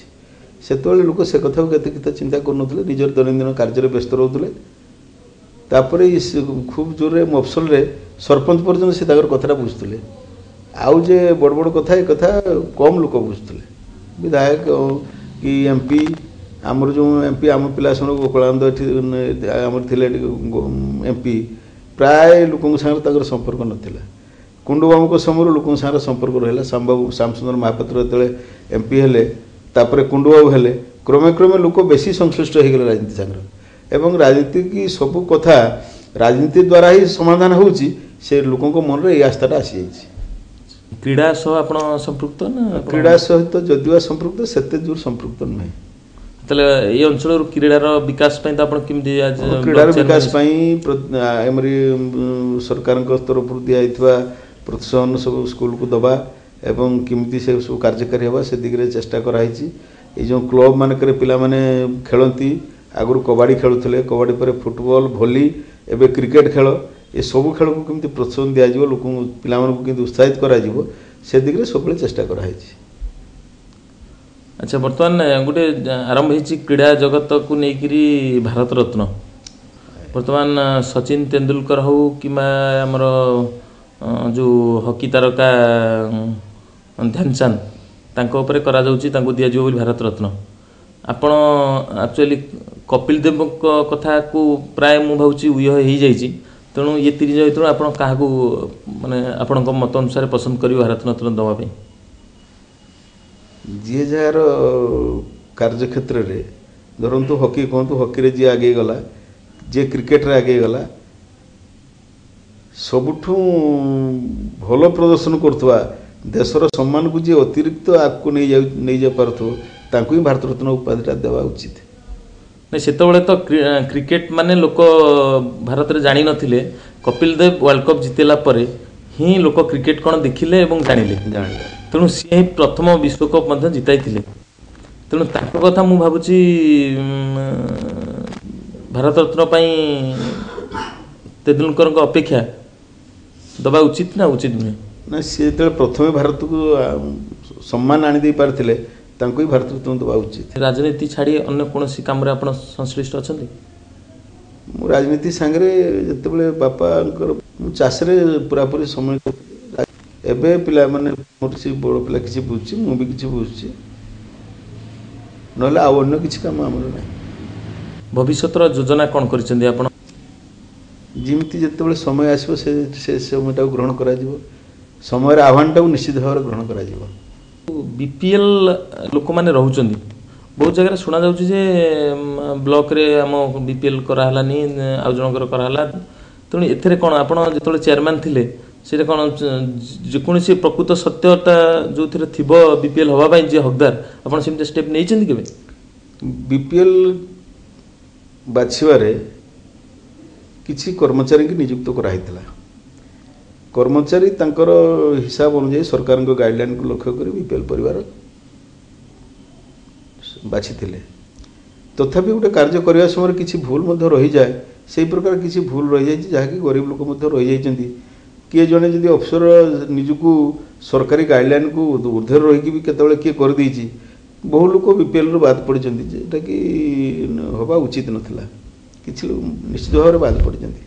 ସେତେବେଳେ ଲୋକ ସେ କଥାକୁ କେତେ କେତେ ଚିନ୍ତା କରୁନଥିଲେ, ନିଜର ଦୈନନ୍ଦିନ କାର୍ଯ୍ୟରେ ବ୍ୟସ୍ତ ରହୁଥିଲେ। ତାପରେ ଖୁବ୍ ଜୋରରେ ମଫସଲରେ ସରପଞ୍ଚ ପର୍ଯ୍ୟନ୍ତ ସେ ତାଙ୍କର କଥାଟା ବୁଝୁଥିଲେ, ଆଉ ଯେ ବଡ଼ ବଡ଼ କଥା ଏ କଥା କମ୍ ଲୋକ ବୁଝୁଥିଲେ। ବିଧାୟକ କି ଏମ୍ପି, ଆମର ଯେଉଁ ଏମ୍ପି ଆମ ପିଲା ସମୟରେ ଗୋକୁଳାନନ୍ଦ ଏଠି ଆମର ଥିଲେ ଏଠି ଏମ୍ପି, ପ୍ରାୟ ଲୋକଙ୍କ ସାଙ୍ଗରେ ତାଙ୍କର ସମ୍ପର୍କ ନଥିଲା। କୁଣ୍ଡୁବାବୁଙ୍କ ସମୟରୁ ଲୋକଙ୍କ ସାଙ୍ଗରେ ସମ୍ପର୍କ ରହିଲା। ଶ୍ୟାମସୁନ୍ଦର ମହାପାତ୍ର ଯେତେବେଳେ ଏମ୍ପି ହେଲେ, ତାପରେ କୁଣ୍ଡୁବାବୁ ହେଲେ, କ୍ରମେ କ୍ରମେ ଲୋକ ବେଶୀ ସଂଶ୍ଳିଷ୍ଟ ହେଇଗଲେ ରାଜନୀତି ସାଙ୍ଗରେ, ଏବଂ ରାଜନୀତି କି ସବୁ କଥା ରାଜନୀତି ଦ୍ୱାରା ହିଁ ସମାଧାନ ହେଉଛି, ସେ ଲୋକଙ୍କ ମନରେ ଏଇ ଆସ୍ଥାଟା ଆସିଯାଇଛି। କ୍ରୀଡ଼ା ସହ ଆପଣ ସମ୍ପୃକ୍ତ ନା? କ୍ରୀଡ଼ା ସହିତ ଯଦିବା ସମ୍ପୃକ୍ତ, ସେତେ ଜୋର ସମ୍ପୃକ୍ତ ନୁହେଁ। ତାହେଲେ ଏଇ ଅଞ୍ଚଳରୁ କ୍ରୀଡ଼ାର ବିକାଶ ପାଇଁ ତ ଆପଣ କେମିତି? କ୍ରୀଡ଼ାର ବିକାଶ ପାଇଁ ଆମରି ସରକାରଙ୍କ ତରଫରୁ ଦିଆଯାଇଥିବା ପ୍ରୋତ୍ସାହନ ସବୁ ସ୍କୁଲକୁ ଦେବା ଏବଂ କେମିତି ସେ ସବୁ କାର୍ଯ୍ୟକାରୀ ହେବା ସେ ଦିଗରେ ଚେଷ୍ଟା କରାହେଇଛି। ଏଇ ଯେଉଁ କ୍ଲବ୍ ମାନଙ୍କରେ ପିଲାମାନେ ଖେଳନ୍ତି, ଆଗରୁ କବାଡ଼ି ଖେଳୁଥିଲେ, କବାଡ଼ି ପରେ ଫୁଟବଲ, ଭଲି, ଏବେ କ୍ରିକେଟ ଖେଳ, ଏସବୁ ଖେଳକୁ କେମିତି ପ୍ରୋତ୍ସାହନ ଦିଆଯିବ, ଲୋକଙ୍କୁ ପିଲାମାନଙ୍କୁ କେମିତି ଉତ୍ସାହିତ କରାଯିବ ସେ ଦିଗରେ ସବୁବେଳେ ଚେଷ୍ଟା କରାହେଇଛି। ଆଚ୍ଛା, ବର୍ତ୍ତମାନ ଗୋଟେ ଆରମ୍ଭ ହେଇଛି କ୍ରୀଡ଼ା ଜଗତକୁ ନେଇକରି ଭାରତ ରତ୍ନ। ବର୍ତ୍ତମାନ ସଚିନ ତେନ୍ଦୁଲକର ହଉ କିମ୍ବା ଆମର ଯେଉଁ ହକି ତାରକା ଧ୍ୟାନଚାନ୍ଦ, ତାଙ୍କ ଉପରେ କରାଯାଉଛି, ତାଙ୍କୁ ଦିଆଯିବ ବୋଲି ଭାରତ ରତ୍ନ। ଆପଣ ଆକ୍ଚୁଆଲି କପିଲ ଦେବଙ୍କ କଥାକୁ ପ୍ରାୟ ମୁଁ ଭାବୁଛି ଉହ ହେଇଯାଇଛି, ତେଣୁ ଇଏ ତିନି ଜଣ ଭିତରୁ ଆପଣ କାହାକୁ ମାନେ ଆପଣଙ୍କ ମତ ଅନୁସାରେ ପସନ୍ଦ କରିବେ ଭାରତ ରତ୍ନ ଦେବା ପାଇଁ? ଯିଏ ଯାହାର କାର୍ଯ୍ୟକ୍ଷେତ୍ରରେ, ଧରନ୍ତୁ ହକି କୁହନ୍ତୁ, ହକିରେ ଯିଏ ଆଗେଇ ଗଲା, ଯିଏ କ୍ରିକେଟରେ ଆଗେଇ ଗଲା, ସବୁଠୁ ଭଲ ପ୍ରଦର୍ଶନ କରୁଥିବା ଦେଶର ସମ୍ମାନକୁ ଯିଏ ଅତିରିକ୍ତ ଆଗକୁ ନେଇଯାଇପାରୁଥିବ ତାଙ୍କୁ ହିଁ ଭାରତରତ୍ନ ଉପାଧିଟା ଦେବା ଉଚିତ। ନାଇଁ, ସେତେବେଳେ ତ କ୍ରିକେଟ ମାନେ ଲୋକ ଭାରତରେ ଜାଣିନଥିଲେ। କପିଲ ଦେବ ୱାର୍ଲଡ କପ୍ ଜିତିଲା ପରେ ହିଁ ଲୋକ କ୍ରିକେଟ କ'ଣ ଦେଖିଲେ ଏବଂ ଜାଣିଲେ। ତେଣୁ ସିଏ ହିଁ ପ୍ରଥମ ବିଶ୍ୱକପ୍ ମଧ୍ୟ ଜିତାଇଥିଲେ। ତେଣୁ ତାଙ୍କ କଥା ମୁଁ ଭାବୁଛି ଭାରତରତ୍ନ ପାଇଁ ତେନ୍ଦୁଲକରଙ୍କ ଅପେକ୍ଷା ଦେବା ଉଚିତ ନା ଉଚିତ ନୁହେଁ? ନା, ସିଏ ଯେତେବେଳେ ପ୍ରଥମେ ଭାରତକୁ ସମ୍ମାନ ଆଣିଦେଇ ପାରିଥିଲେ ତାଙ୍କୁ ହିଁ ଭାରତରତ୍ନ ଦେବା ଉଚିତ। ରାଜନୀତି ଛାଡ଼ି ଅନ୍ୟ କୌଣସି କାମରେ ଆପଣ ସଂଶ୍ଳିଷ୍ଟ ଅଛନ୍ତି? ମୁଁ ରାଜନୀତି ସାଙ୍ଗରେ ଯେତେବେଳେ ବାପାଙ୍କର ମୁଁ ଚାଷରେ ପୁରାପୁରି ସମୟ। ଏବେ ପିଲାମାନେ ମୋର ସେ ବଡ଼ ପିଲା କିଛି ବୁଝୁଛି, ମୁଁ ବି କିଛି ବୁଝୁଛି, ନହେଲେ ଆଉ ଅନ୍ୟ କିଛି କାମ ଆମର ନାହିଁ। ଭବିଷ୍ୟତର ଯୋଜନା କ'ଣ କରିଛନ୍ତି ଆପଣ? ଯେମିତି ଯେତେବେଳେ ସମୟ ଆସିବ ସେ ସମୟଟାକୁ ଗ୍ରହଣ କରାଯିବ, ସମୟର ଆହ୍ୱାନଟାକୁ ନିଶ୍ଚିତ ଭାବରେ ଗ୍ରହଣ କରାଯିବ। ବିପିଏଲ୍ ଲୋକମାନେ ରହୁଛନ୍ତି ବହୁତ ଜାଗାରେ, ଶୁଣାଯାଉଛି ଯେ ବ୍ଲକରେ ଆମ ବିପିଏଲ୍ କରାହେଲାନି, ଆଉ ଜଣଙ୍କର କରାହେଲା। ତେଣୁ ଏଥିରେ କ'ଣ ଆପଣ ଯେତେବେଳେ ଚେୟାରମ୍ୟାନ୍ ଥିଲେ ସେଇଟା କ'ଣ ଯେକୌଣସି ପ୍ରକୃତ ସତ୍ୟତା ଯେଉଁଥିରେ ଥିବ ବିପିଏଲ୍ ହେବା ପାଇଁ ଯିଏ ହକଦାର, ଆପଣ ସେମିତି ଷ୍ଟେପ୍ ନେଇଛନ୍ତି କେବେ? ବିପିଏଲ୍ ବାଛିବାରେ କିଛି କର୍ମଚାରୀଙ୍କୁ ନିଯୁକ୍ତ କରାହେଇଥିଲା। କର୍ମଚାରୀ ତାଙ୍କର ହିସାବ ଅନୁଯାୟୀ ସରକାରଙ୍କ ଗାଇଡ଼ଲାଇନକୁ ଲକ୍ଷ୍ୟ କରି ବିପିଏଲ୍ ପରିବାର ବାଛିଥିଲେ। ତଥାପି ଗୋଟେ କାର୍ଯ୍ୟ କରିବା ସମୟରେ କିଛି ଭୁଲ ମଧ୍ୟ ରହିଯାଏ। ସେଇ ପ୍ରକାର କିଛି ଭୁଲ ରହିଯାଇଛି, ଯାହାକି ଗରିବ ଲୋକ ମଧ୍ୟ ରହିଯାଇଛନ୍ତି। କିଏ ଜଣେ ଯଦି ଅଫିସର ନିଜକୁ ସରକାରୀ ଗାଇଡ଼ଲାଇନକୁ ଉର୍ଦ୍ଧ୍ୱରେ ରହିକି ବି କେତେବେଳେ କିଏ କରିଦେଇଛି, ବହୁ ଲୋକ ବିପିଏଲ୍ରୁ ବାଦ ପଡ଼ିଛନ୍ତି, ଯେଉଁଟାକି ହେବା ଉଚିତ ନଥିଲା। କିଛି ଲୋକ ନିଶ୍ଚିତ ଭାବରେ ବାଦ ପଡ଼ିଛନ୍ତି।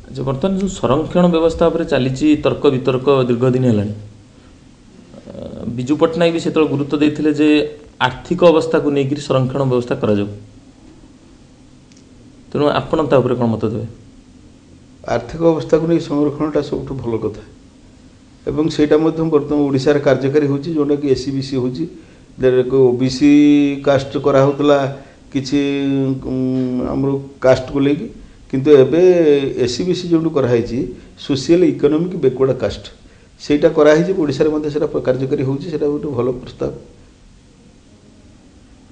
ଆଚ୍ଛା, ବର୍ତ୍ତମାନ ଯେଉଁ ସଂରକ୍ଷଣ ବ୍ୟବସ୍ଥା ଉପରେ ଚାଲିଛି ତର୍କ ବିତର୍କ ଦୀର୍ଘ ଦିନ ହେଲାଣି, ବିଜୁ ପଟ୍ଟନାୟକ ବି ସେତେବେଳେ ଗୁରୁତ୍ୱ ଦେଇଥିଲେ ଯେ ଆର୍ଥିକ ଅବସ୍ଥାକୁ ନେଇକରି ସଂରକ୍ଷଣ ବ୍ୟବସ୍ଥା କରାଯାଉ। ତେଣୁ ଆପଣ ତା ଉପରେ କ'ଣ ମତ ଦେବେ? ଆର୍ଥିକ ଅବସ୍ଥାକୁ ନେଇ ସଂରକ୍ଷଣଟା ସବୁଠୁ ଭଲ କଥା, ଏବଂ ସେଇଟା ମଧ୍ୟ ବର୍ତ୍ତମାନ ଓଡ଼ିଶାରେ କାର୍ଯ୍ୟକାରୀ ହେଉଛି, ଯେଉଁଟାକି ଏସ୍ ସି ବି ସି ହେଉଛି। ଓ ବି ସି କାଷ୍ଟ କରାହେଉଥିଲା କିଛି ଆମର କାଷ୍ଟକୁ ନେଇକି, କିନ୍ତୁ ଏବେ ଏସ୍ ସି ବି ସି ଯେଉଁଠୁ କରାହେଇଛି ସୋସିଆଲ ଇକୋନୋମିକ୍ ବ୍ୟାକୱାର୍ଡ଼ କାଷ୍ଟ, ସେଇଟା କରାହେଇଛି। ଓଡ଼ିଶାରେ ମଧ୍ୟ ସେଇଟା କାର୍ଯ୍ୟକାରୀ ହେଉଛି, ସେଇଟା ଗୋଟେ ଭଲ ପ୍ରସ୍ତାବ।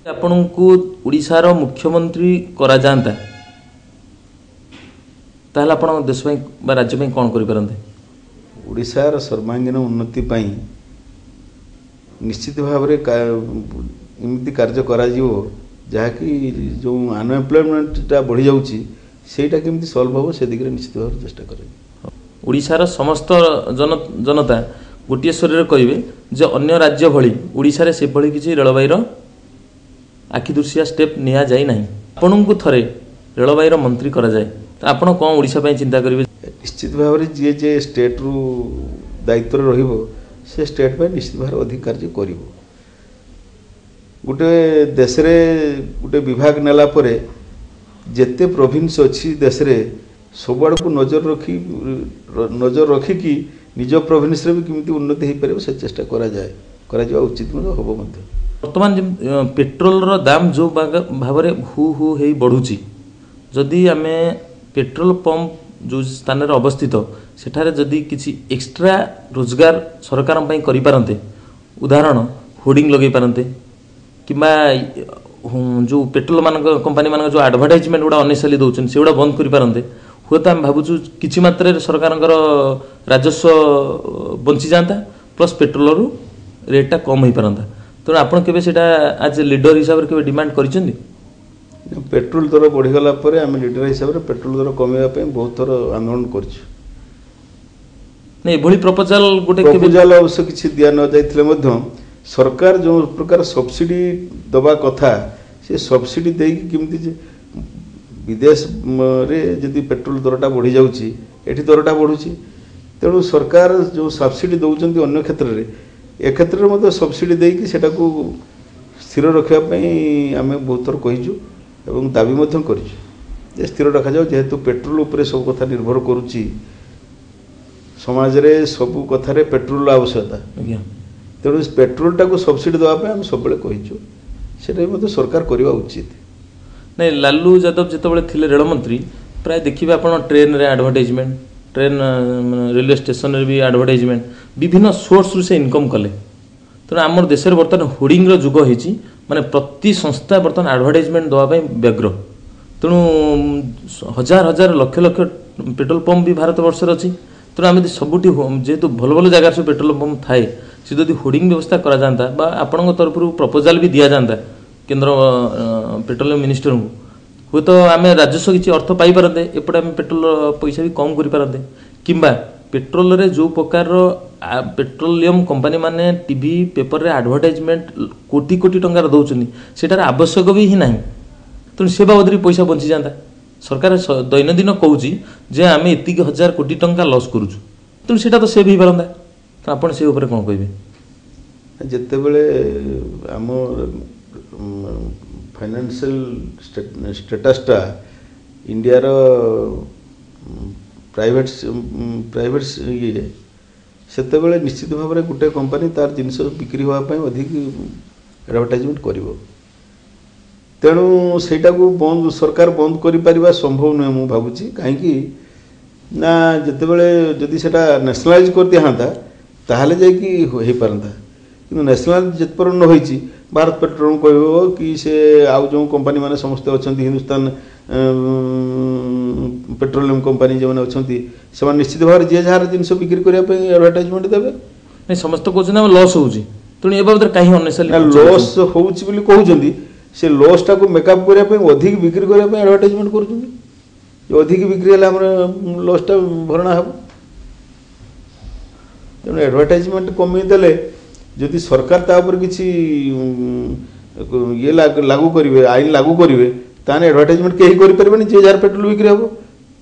ଆପଣଙ୍କୁ ଓଡ଼ିଶାର ମୁଖ୍ୟମନ୍ତ୍ରୀ କରାଯାଆନ୍ତା ତାହେଲେ ଆପଣ ଦେଶ ପାଇଁ ବା ରାଜ୍ୟ ପାଇଁ କ'ଣ କରିପାରନ୍ତେ? ଓଡ଼ିଶାର ସର୍ବାଙ୍ଗୀନ ଉନ୍ନତି ପାଇଁ ନିଶ୍ଚିତ ଭାବରେ ଏମିତି କାର୍ଯ୍ୟ କରାଯିବ ଯାହାକି ଯେଉଁ ଅନଏମ୍ପ୍ଲୟମେଣ୍ଟଟା ବଢ଼ିଯାଉଛି ସେଇଟା କେମିତି ସଲ୍ଭ ହେବ ସେ ଦିଗରେ ନିଶ୍ଚିତ ଭାବରେ ଚେଷ୍ଟା କରାଯିବ। ଓଡ଼ିଶାର ସମସ୍ତ ଜନତା ଗୋଟିଏ ସ୍ୱରରେ କହିବେ ଯେ ଅନ୍ୟ ରାଜ୍ୟ ଭଳି ଓଡ଼ିଶାରେ ସେଭଳି କିଛି ରେଳବାଇର ଆଖିଦୃଶିଆ ଷ୍ଟେପ୍ ନିଆଯାଇ ନାହିଁ। ଆପଣଙ୍କୁ ଥରେ ରେଳବାଇର ମନ୍ତ୍ରୀ କରାଯାଏ ତ ଆପଣ କ'ଣ ଓଡ଼ିଶା ପାଇଁ ଚିନ୍ତା କରିବେ? ନିଶ୍ଚିତ ଭାବରେ ଯିଏ ଯିଏ ଷ୍ଟେଟ୍ରୁ ଦାୟିତ୍ୱରେ ରହିବ ସେ ଷ୍ଟେଟ୍ ପାଇଁ ନିଶ୍ଚିତ ଭାବରେ ଅଧିକ କାର୍ଯ୍ୟ କରିବ। ଗୋଟେ ଦେଶରେ ଗୋଟେ ବିଭାଗ ନେଲା ପରେ ଯେତେ ପ୍ରୋଭିନ୍ସ ଅଛି ଦେଶରେ ସବୁଆଡ଼କୁ ନଜର ରଖିକି ନିଜ ପ୍ରୋଭିନ୍ସରେ ବି କେମିତି ଉନ୍ନତି ହେଇପାରିବ ସେ ଚେଷ୍ଟା କରାଯିବା ଉଚିତ ମଧ୍ୟ ହେବ ମଧ୍ୟ। ବର୍ତ୍ତମାନ ପେଟ୍ରୋଲର ଦାମ ଯେଉଁ ଭାବରେ ହୁ ହୁ ହେଇ ବଢ଼ୁଛି, ଯଦି ଆମେ ପେଟ୍ରୋଲ ପମ୍ପ ଯେଉଁ ସ୍ଥାନରେ ଅବସ୍ଥିତ ସେଠାରେ ଯଦି କିଛି ଏକ୍ସଟ୍ରା ରୋଜଗାର ସରକାରଙ୍କ ପାଇଁ କରିପାରନ୍ତେ, ଉଦାହରଣ ହୋର୍ଡ଼ିଂ ଲଗାଇ ପାରନ୍ତେ କିମ୍ବା ଯେଉଁ ପେଟ୍ରୋଲ ମାନଙ୍କ କମ୍ପାନୀମାନଙ୍କ ଯେଉଁ ଆଡ଼ଭର୍ଟାଇଜମେଣ୍ଟ ଗୁଡ଼ା ଅନେସେଲି ଦେଉଛନ୍ତି ସେଗୁଡ଼ା ବନ୍ଦ କରିପାରନ୍ତେ, ହୁଏତ ଆମେ ଭାବୁଛୁ କିଛି ମାତ୍ରାରେ ସରକାରଙ୍କର ରାଜସ୍ୱ ବଞ୍ଚିଯାଆନ୍ତା, ପ୍ଲସ୍ ପେଟ୍ରୋଲରୁ ରେଟ୍ଟା କମ୍ ହେଇପାରନ୍ତା। ତେଣୁ ଆପଣ କେବେ ସେଇଟା ଆଜ୍ ଏ ଲିଡର ହିସାବରେ କେବେ ଡିମାଣ୍ଡ କରିଛନ୍ତି? ପେଟ୍ରୋଲ ଦର ବଢ଼ିଗଲା ପରେ ଆମେ ଲିଡର ହିସାବରେ ପେଟ୍ରୋଲ ଦର କମାଇବା ପାଇଁ ବହୁତ ଥର ଆନ୍ଦୋଳନ କରିଛୁ। ନାଇଁ, ଏଭଳି ପ୍ରପୋଜାଲ ଗୋଟେ ପ୍ରପୋଜାଲ ଅବଶ୍ୟ କିଛି ଦିଆ ନ ଯାଇଥିଲେ ମଧ୍ୟ ସରକାର ଯେଉଁ ପ୍ରକାର ସବସିଡି ଦେବା କଥା ସେ ସବସିଡି ଦେଇକି କେମିତି ବିଦେଶରେ ଯଦି ପେଟ୍ରୋଲ ଦରଟା ବଢ଼ିଯାଉଛି ଏଠି ଦରଟା ବଢ଼ୁଛି, ତେଣୁ ସରକାର ଯେଉଁ ସବସିଡି ଦେଉଛନ୍ତି ଅନ୍ୟ କ୍ଷେତ୍ରରେ ଏ କ୍ଷେତ୍ରରେ ମଧ୍ୟ ସବସିଡି ଦେଇକି ସେଟାକୁ ସ୍ଥିର ରଖିବା ପାଇଁ ଆମେ ବହୁତ ଥର କହିଛୁ ଏବଂ ଦାବି ମଧ୍ୟ କରିଛୁ ଯେ ସ୍ଥିର ରଖାଯାଉ। ଯେହେତୁ ପେଟ୍ରୋଲ ଉପରେ ସବୁ କଥା ନିର୍ଭର କରୁଛି, ସମାଜରେ ସବୁ କଥାରେ ପେଟ୍ରୋଲର ଆବଶ୍ୟକତା, ତେଣୁ ପେଟ୍ରୋଲଟାକୁ ସବସିଡି ଦେବା ପାଇଁ ଆମେ ସବୁବେଳେ କହିଛୁ, ସେଇଟା ବି ମଧ୍ୟ ସରକାର କରିବା ଉଚିତ। ନାଇଁ, ଲାଲୁ ଯାଦବ ଯେତେବେଳେ ଥିଲେ ରେଳମନ୍ତ୍ରୀ ପ୍ରାୟ ଦେଖିବେ ଆପଣ ଟ୍ରେନରେ ଆଡ଼ଭର୍ଟାଇଜମେଣ୍ଟ, ଟ୍ରେନ୍ ରେଲୱେ ଷ୍ଟେସନରେ ବି ଆଡ଼ଭର୍ଟାଇଜମେଣ୍ଟ, ବିଭିନ୍ନ ସୋର୍ସରୁ ସେ ଇନକମ୍ କଲେ। ତେଣୁ ଆମର ଦେଶରେ ବର୍ତ୍ତମାନ ହୋର୍ଡ଼ିଂର ଯୁଗ ହେଇଛି, ମାନେ ପ୍ରତି ସଂସ୍ଥା ବର୍ତ୍ତମାନ ଆଡ଼ଭର୍ଟାଇଜମେଣ୍ଟ ଦେବା ପାଇଁ ବ୍ୟଗ୍ର। ତେଣୁ ହଜାର ହଜାର ଲକ୍ଷ ଲକ୍ଷ ପେଟ୍ରୋଲ ପମ୍ପ ବି ଭାରତ ବର୍ଷରେ ଅଛି। ତେଣୁ ଆମେ ଯଦି ସବୁଠି ଯେହେତୁ ଭଲ ଭଲ ଜାଗାରେ ସବୁ ପେଟ୍ରୋଲ ପମ୍ପ ଥାଏ, ସେ ଯଦି ହୋର୍ଡ଼ିଂ ବ୍ୟବସ୍ଥା କରାଯାଆନ୍ତା ବା ଆପଣଙ୍କ ତରଫରୁ ପ୍ରପୋଜାଲ ବି ଦିଆଯାଆନ୍ତା କେନ୍ଦ୍ର ପେଟ୍ରୋଲିୟମ ମିନିଷ୍ଟରଙ୍କୁ, ହୁଏତ ଆମେ ରାଜସ୍ୱ କିଛି ଅର୍ଥ ପାଇପାରନ୍ତେ, ଏପଟେ ଆମେ ପେଟ୍ରୋଲ ପଇସା ବି କମ୍ କରିପାରନ୍ତେ। କିମ୍ବା ପେଟ୍ରୋଲରେ ଯେଉଁ ପ୍ରକାରର ପେଟ୍ରୋଲିୟମ କମ୍ପାନୀ ମାନେ ଟିଭି ପେପରରେ ଆଡ଼ଭର୍ଟାଇଜମେଣ୍ଟ କୋଟି କୋଟି ଟଙ୍କାର ଦେଉଛନ୍ତି, ସେଟାର ଆବଶ୍ୟକ ବି ହିଁ ନାହିଁ। ତେଣୁ ସେ ବାବଦରେ ବି ପଇସା ବଞ୍ଚିଯାଆନ୍ତା। ସରକାର ଦୈନନ୍ଦିନ କହୁଛି ଯେ ଆମେ ଏତିକି ହଜାର କୋଟି ଟଙ୍କା ଲସ୍ କରୁଛୁ, ତେଣୁ ସେଇଟା ତ ସେଭ୍ ହେଇପାରନ୍ତା। ତ ଆପଣ ସେ ଉପରେ କ'ଣ କହିବେ? ଯେତେବେଳେ ଆମ ଫାଇନାନ୍ସିଆଲ ଷ୍ଟେଟସ୍ଟା ଇଣ୍ଡିଆର ପ୍ରାଇଭେଟ ପ୍ରାଇଭେଟ ଇଏ, ସେତେବେଳେ ନିଶ୍ଚିତ ଭାବରେ ଗୋଟେ କମ୍ପାନୀ ତାର ଜିନିଷ ବିକ୍ରି ହେବା ପାଇଁ ଅଧିକ ଆଡ଼ଭର୍ଟାଇଜମେଣ୍ଟ କରିବ। ତେଣୁ ସେଇଟାକୁ ବନ୍ଦ ସରକାର ବନ୍ଦ କରିପାରିବା ସମ୍ଭବ ନୁହେଁ ମୁଁ ଭାବୁଛି। କାହିଁକି ନା ଯେତେବେଳେ ଯଦି ସେଇଟା ନ୍ୟାସନାଲାଇଜ୍ କରିଦିଆନ୍ତା ତାହେଲେ ଯାଇକି ହେଇପାରନ୍ତା, କିନ୍ତୁ ନ୍ୟାସନାଲାଇଜ୍ ଯେତେ ପର୍ଯ୍ୟନ୍ତ ନ ହେଇଛି, ଭାରତ ପେଟ୍ରୋଲିୟମ କହିବ କି ସେ ଆଉ ଯେଉଁ କମ୍ପାନୀ ମାନେ ସମସ୍ତେ ଅଛନ୍ତି, ହିନ୍ଦୁସ୍ତାନ ପେଟ୍ରୋଲିୟମ କମ୍ପାନୀ ଯେଉଁମାନେ ଅଛନ୍ତି, ସେମାନେ ନିଶ୍ଚିତ ଭାବରେ ଯିଏ ଯାହାର ଜିନିଷ ବିକ୍ରି କରିବା ପାଇଁ ଆଡ଼ଭର୍ଟାଇଜମେଣ୍ଟ ଦେବେ। ନାଇଁ, ସମସ୍ତେ କହୁଛନ୍ତି ଆମେ ଲସ୍ ହେଉଛି, ତେଣୁ ଏ ବାବଦରେ କାହିଁ ଅନନେସେସରି ଲସ୍ ହେଉଛି ବୋଲି କହୁଛନ୍ତି? ସେ ଲସ୍ଟାକୁ ମେକଅପ୍ କରିବା ପାଇଁ ଅଧିକ ବିକ୍ରି କରିବା ପାଇଁ ଆଡ଼ଭର୍ଟାଇଜମେଣ୍ଟ କରୁଛନ୍ତି। ଅଧିକ ବିକ୍ରି ହେଲେ ଆମର ଲସ୍ଟା ଭରଣା ହେବ। ତେଣୁ ଆଡ଼ଭର୍ଟାଇଜମେଣ୍ଟ କମେଇ ଦେଲେ ଯଦି ସରକାର ତା ଉପରେ କିଛି ଇଏ ଲାଗୁ କରିବେ, ଆଇନ ଲାଗୁ କରିବେ, ତାହେଲେ ଆଡ଼ଭର୍ଟାଇଜମେଣ୍ଟ କେହି କରିପାରିବେନି, ଯିଏ ଯାହାର ପେଟ୍ରୋଲ ବିକ୍ରି ହେବ।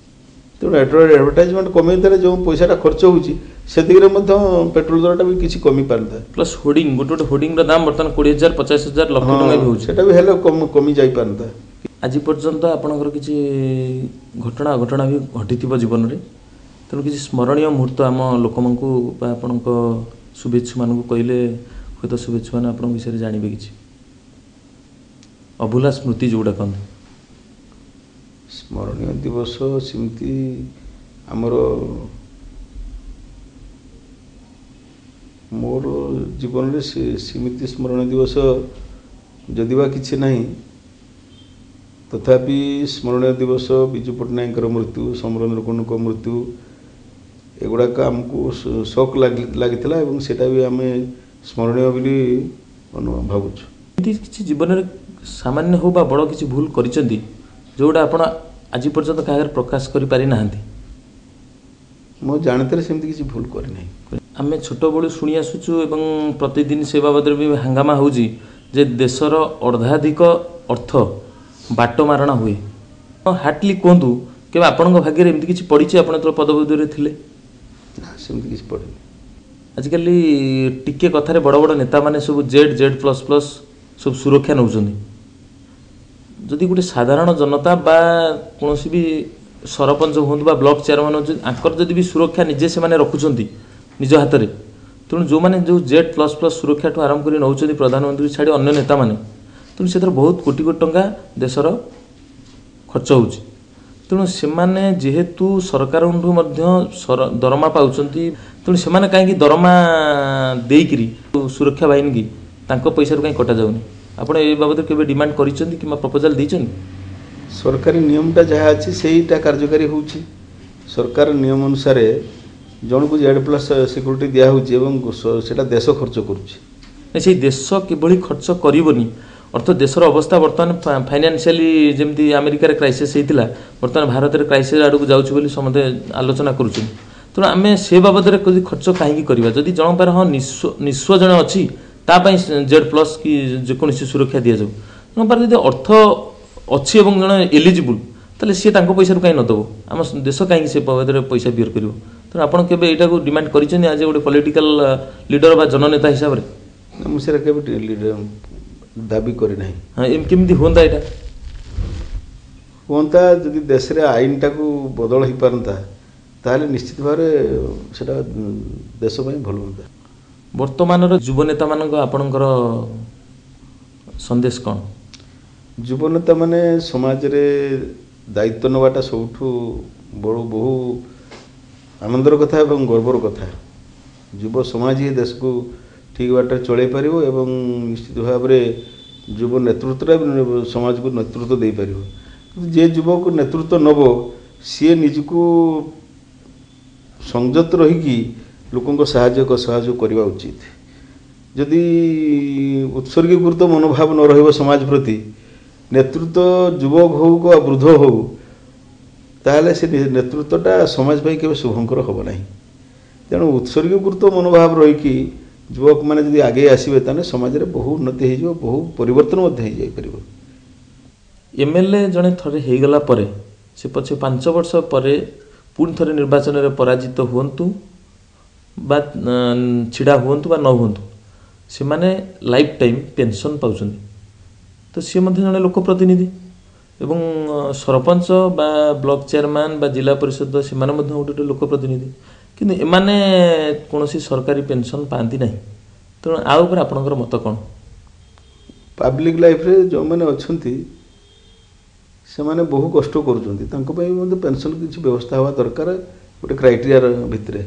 ତେଣୁ ଆଡ଼ଭର୍ଟାଇଜମେଣ୍ଟ କମେଇ ଦେଲେ ଯେଉଁ ପଇସାଟା ଖର୍ଚ୍ଚ ହେଉଛି ସେତିକିରେ ମଧ୍ୟ ପେଟ୍ରୋଲ ଦରଟା ବି କିଛି କମି ପାରନ୍ତା। ପ୍ଲସ୍ ହୋର୍ଡ଼ିଂ, ଗୋଟେ ଗୋଟେ ହୋର୍ଡ଼ିଂର ଦାମ ବର୍ତ୍ତମାନ 20,000 50,000 ଲକ୍ଷ ଟଙ୍କା ବି ହେଉଛି, ସେଟା ବି ହେଲେ କମି ଯାଇପାରନ୍ତା। ଆଜି ପର୍ଯ୍ୟନ୍ତ ଆପଣଙ୍କର କିଛି ଘଟଣା ଅଘଟଣା ବି ଘଟିଥିବ ଜୀବନରେ, ତେଣୁ କିଛି ସ୍ମରଣୀୟ ମୁହୂର୍ତ୍ତ ଆମ ଲୋକମାନଙ୍କୁ ବା ଆପଣଙ୍କ ଶୁଭେଚ୍ଛୁମାନଙ୍କୁ କହିଲେ ହୁଏତ ଶୁଭେଚ୍ଛୁମାନେ ଆପଣଙ୍କ ବିଷୟରେ ଜାଣିବେ, କିଛି ଅଭୁଲା ସ୍ମୃତି ଯେଉଁଟା କହନ୍ତି। ସ୍ମରଣୀୟ ଦିବସ ସେମିତି ଆମର ମୋର ଜୀବନରେ ସେମିତି ସ୍ମରଣୀୟ ଦିବସ ଯଦି ବା କିଛି ନାହିଁ, ତଥାପି ସ୍ମରଣୀୟ ଦିବସ ବିଜୁ ପଟ୍ଟନାୟକଙ୍କର ମୃତ୍ୟୁ, ସମରେନ୍ଦ୍ର କୁଣ୍ଡୁଙ୍କ ମୃତ୍ୟୁ, ଏଗୁଡ଼ାକ ଆମକୁ ଶୋକ ଲାଗିଥିଲା ଏବଂ ସେଇଟା ବି ଆମେ ସ୍ମରଣୀୟ ବୋଲି ଭାବୁଛୁ। ଏମିତି କିଛି ଜୀବନରେ ସାମାନ୍ୟ ହଉ ବା ବଡ଼ କିଛି ଭୁଲ କରିଛନ୍ତି ଯେଉଁଟା ଆପଣ ଆଜି ପର୍ଯ୍ୟନ୍ତ କାହା ଆଗରେ ପ୍ରକାଶ କରିପାରିନାହାନ୍ତି? ମୁଁ ଜାଣିତରେ ସେମିତି କିଛି ଭୁଲ କରିନାହିଁ। ଆମେ ଛୋଟବେଳୁ ଶୁଣି ଆସୁଛୁ ଏବଂ ପ୍ରତିଦିନ ସେ ବାବଦରେ ବି ହାଙ୍ଗାମା ହେଉଛି ଯେ ଦେଶର ଅର୍ଦ୍ଧାଧିକ ଅର୍ଥ ବାଟ ମାରଣା ହୁଏ। ହାର୍ଟଲି କୁହନ୍ତୁ, କେବେ ଆପଣଙ୍କ ଭାଗ୍ୟରେ ଏମିତି କିଛି ପଡ଼ିଛି ଆପଣ ଯେତେବେଳେ ପଦପଦବୀରେ ଥିଲେ? ନା, ସେମିତି କିଛି ପଡ଼ିନି। ଆଜିକାଲି ଟିକେ କଥାରେ ବଡ଼ ବଡ଼ ନେତାମାନେ ସବୁ ଜେଡ୍ ଜେଡ୍ ପ୍ଲସ୍ ପ୍ଲସ୍ ସବୁ ସୁରକ୍ଷା ନେଉଛନ୍ତି। ଯଦି ଗୋଟେ ସାଧାରଣ ଜନତା ବା କୌଣସି ବି ସରପଞ୍ଚ ହୁଅନ୍ତୁ ବା ବ୍ଲକ ଚେୟାରମ୍ୟାନ୍ ହୁଅନ୍ତୁ, ଆଙ୍କର ଯଦି ବି ସୁରକ୍ଷା ନିଜେ ସେମାନେ ରଖୁଛନ୍ତି ନିଜ ହାତରେ, ତେଣୁ ଯେଉଁମାନେ ଯେଉଁ ଜେଡ୍ ପ୍ଲସ୍ ପ୍ଲସ୍ ସୁରକ୍ଷାଠୁ ଆରମ୍ଭ କରି ନେଉଛନ୍ତି ପ୍ରଧାନମନ୍ତ୍ରୀ ଛାଡ଼ି ଅନ୍ୟ ନେତାମାନେ, ତେଣୁ ସେଥିରେ ବହୁତ କୋଟି କୋଟି ଟଙ୍କା ଦେଶର ଖର୍ଚ୍ଚ ହେଉଛି। ତେଣୁ ସେମାନେ ଯେହେତୁ ସରକାରଙ୍କଠୁ ମଧ୍ୟ ଦରମା ପାଉଛନ୍ତି, ତେଣୁ ସେମାନେ କାହିଁକି ଦରମା ଦେଇକିରି ସୁରକ୍ଷା ବାହିନୀକି ତାଙ୍କ ପଇସାରୁ କାହିଁ କଟାଯାଉନି? ଆପଣ ଏ ବାବଦରେ କେବେ ଡିମାଣ୍ଡ କରିଛନ୍ତି କିମ୍ବା ପ୍ରପୋଜାଲ ଦେଇଛନ୍ତି? ସରକାରୀ ନିୟମଟା ଯାହା ଅଛି ସେଇଟା କାର୍ଯ୍ୟକାରୀ ହେଉଛି। ସରକାର ନିୟମ ଅନୁସାରେ ଜଣକୁ ଜେଡ୍ ପ୍ଲସ୍ ସିକ୍ୟୁରିଟି ଦିଆହେଉଛି ଏବଂ ସେଇଟା ଦେଶ ଖର୍ଚ୍ଚ କରୁଛି। ସେଇ ଦେଶ କିଭଳି ଖର୍ଚ୍ଚ କରିବନି, ଅର୍ଥ ଦେଶର ଅବସ୍ଥା ବର୍ତ୍ତମାନ ଫାଇନାନ୍ସିଆଲି ଯେମିତି ଆମେରିକାରେ କ୍ରାଇସିସ୍ ହେଇଥିଲା, ବର୍ତ୍ତମାନ ଭାରତରେ କ୍ରାଇସିସ୍ ଆଡ଼କୁ ଯାଉଛି ବୋଲି ସମସ୍ତେ ଆଲୋଚନା କରୁଛନ୍ତି। ତେଣୁ ଆମେ ସେ ବାବଦରେ ଯଦି ଖର୍ଚ୍ଚ କାହିଁକି କରିବା? ଯଦି ଜଣଙ୍କ ପାଖରେ ହଁ ନିଃସ୍ୱ ଜଣେ ଅଛି, ତା ପାଇଁ ଜେଡ୍ ପ୍ଲସ୍ କି ଯେକୌଣସି ସୁରକ୍ଷା ଦିଆଯାଉ। ଜଣଙ୍କ ପାଖରେ ଯଦି ଅର୍ଥ ଅଛି ଏବଂ ଜଣେ ଏଲିଜିବୁଲ୍, ତାହେଲେ ସିଏ ତାଙ୍କ ପଇସାରୁ କାହିଁ ନ ଦେବ? ଆମ ଦେଶ କାହିଁକି ସେ ବାବଦରେ ପଇସା ବିୟର କରିବ? ତେଣୁ ଆପଣ କେବେ ଏଇଟାକୁ ଡିମାଣ୍ଡ କରିଛନ୍ତି ଆଜି ଗୋଟେ ପଲିଟିକାଲ ଲିଡର ବା ଜନନେତା ହିସାବରେ? ମୁଁ ସେଇଟା କେବେ ଦାବି କରିନାହିଁ। ହଁ, କେମିତି ହୁଅନ୍ତା ଏଇଟା? ହୁଅନ୍ତା ଯଦି ଦେଶରେ ଆଇନଟାକୁ ବଦଳ ହେଇପାରନ୍ତା, ତାହେଲେ ନିଶ୍ଚିତ ଭାବରେ ସେଇଟା ଦେଶ ପାଇଁ ଭଲ ହୁଅନ୍ତା। ବର୍ତ୍ତମାନର ଯୁବନେତାମାନଙ୍କ ଆପଣଙ୍କର ସନ୍ଦେଶ କ'ଣ? ଯୁବନେତାମାନେ ସମାଜରେ ଦାୟିତ୍ୱ ନେବାଟା ସବୁଠୁ ବଡ଼ ବହୁ ଆନନ୍ଦର କଥା ଏବଂ ଗର୍ବର କଥା। ଯୁବ ସମାଜ ହିଁ ଦେଶକୁ ଠିକ୍ ବାଟରେ ଚଳାଇ ପାରିବ ଏବଂ ନିଶ୍ଚିତ ଭାବରେ ଯୁବ ନେତୃତ୍ୱଟା ସମାଜକୁ ନେତୃତ୍ୱ ଦେଇପାରିବ। କିନ୍ତୁ ଯିଏ ଯୁବକ ନେତୃତ୍ୱ ନେବ ସିଏ ନିଜକୁ ସଂଯତ ରହିକି ଲୋକଙ୍କ ସହଯୋଗ କରିବା ଉଚିତ। ଯଦି ଉତ୍ସର୍ଗୀକୃତ ମନୋଭାବ ନ ରହିବ ସମାଜ ପ୍ରତି, ନେତୃତ୍ୱ ଯୁବକ ହେଉ ବା ବୃଦ୍ଧ ହେଉ, ତାହେଲେ ସେ ନେତୃତ୍ୱଟା ସମାଜ ପାଇଁ କେବେ ଶୁଭଙ୍କର ହେବ ନାହିଁ। ତେଣୁ ଉତ୍ସର୍ଗୀକୃତ ମନୋଭାବ ରହିକି ଯୁବକମାନେ ଯଦି ଆଗେଇ ଆସିବେ ତାହେଲେ ସମାଜରେ ବହୁ ଉନ୍ନତି ହେଇଯିବ, ବହୁ ପରିବର୍ତ୍ତନ ମଧ୍ୟ ହେଇଯାଇପାରିବ। ଏମଏଲଏ ଜଣେ ଥରେ ହେଇଗଲା ପରେ ସେ ପଛେ 5 ବର୍ଷ ପରେ ପୁଣି ଥରେ ନିର୍ବାଚନରେ ପରାଜିତ ହୁଅନ୍ତୁ ବା ଛିଡ଼ା ହୁଅନ୍ତୁ ବା ନ ହୁଅନ୍ତୁ, ସେମାନେ ଲାଇଫ୍ ଟାଇମ୍ ପେନସନ୍ ପାଉଛନ୍ତି। ତ ସିଏ ମଧ୍ୟ ଜଣେ ଲୋକ ପ୍ରତିନିଧି ଏବଂ ସରପଞ୍ଚ ବା ବ୍ଲକ ଚେୟାରମ୍ୟାନ୍ ବା ଜିଲ୍ଲା ପରିଷଦ ସେମାନେ ମଧ୍ୟ ଗୋଟେ ଗୋଟେ ଲୋକ ପ୍ରତିନିଧି, କିନ୍ତୁ ଏମାନେ କୌଣସି ସରକାରୀ ପେନସନ୍ ପାଆନ୍ତି ନାହିଁ। ତେଣୁ ଆଉ ଉପରେ ଆପଣଙ୍କର ମତ କ'ଣ? ପାବ୍ଲିକ୍ ଲାଇଫ୍ରେ ଯେଉଁମାନେ ଅଛନ୍ତି ସେମାନେ ବହୁ କଷ୍ଟ କରୁଛନ୍ତି, ତାଙ୍କ ପାଇଁ ମଧ୍ୟ ପେନସନ୍ କିଛି ବ୍ୟବସ୍ଥା ହେବା ଦରକାର ଗୋଟେ କ୍ରାଇଟେରିଆ ଭିତରେ।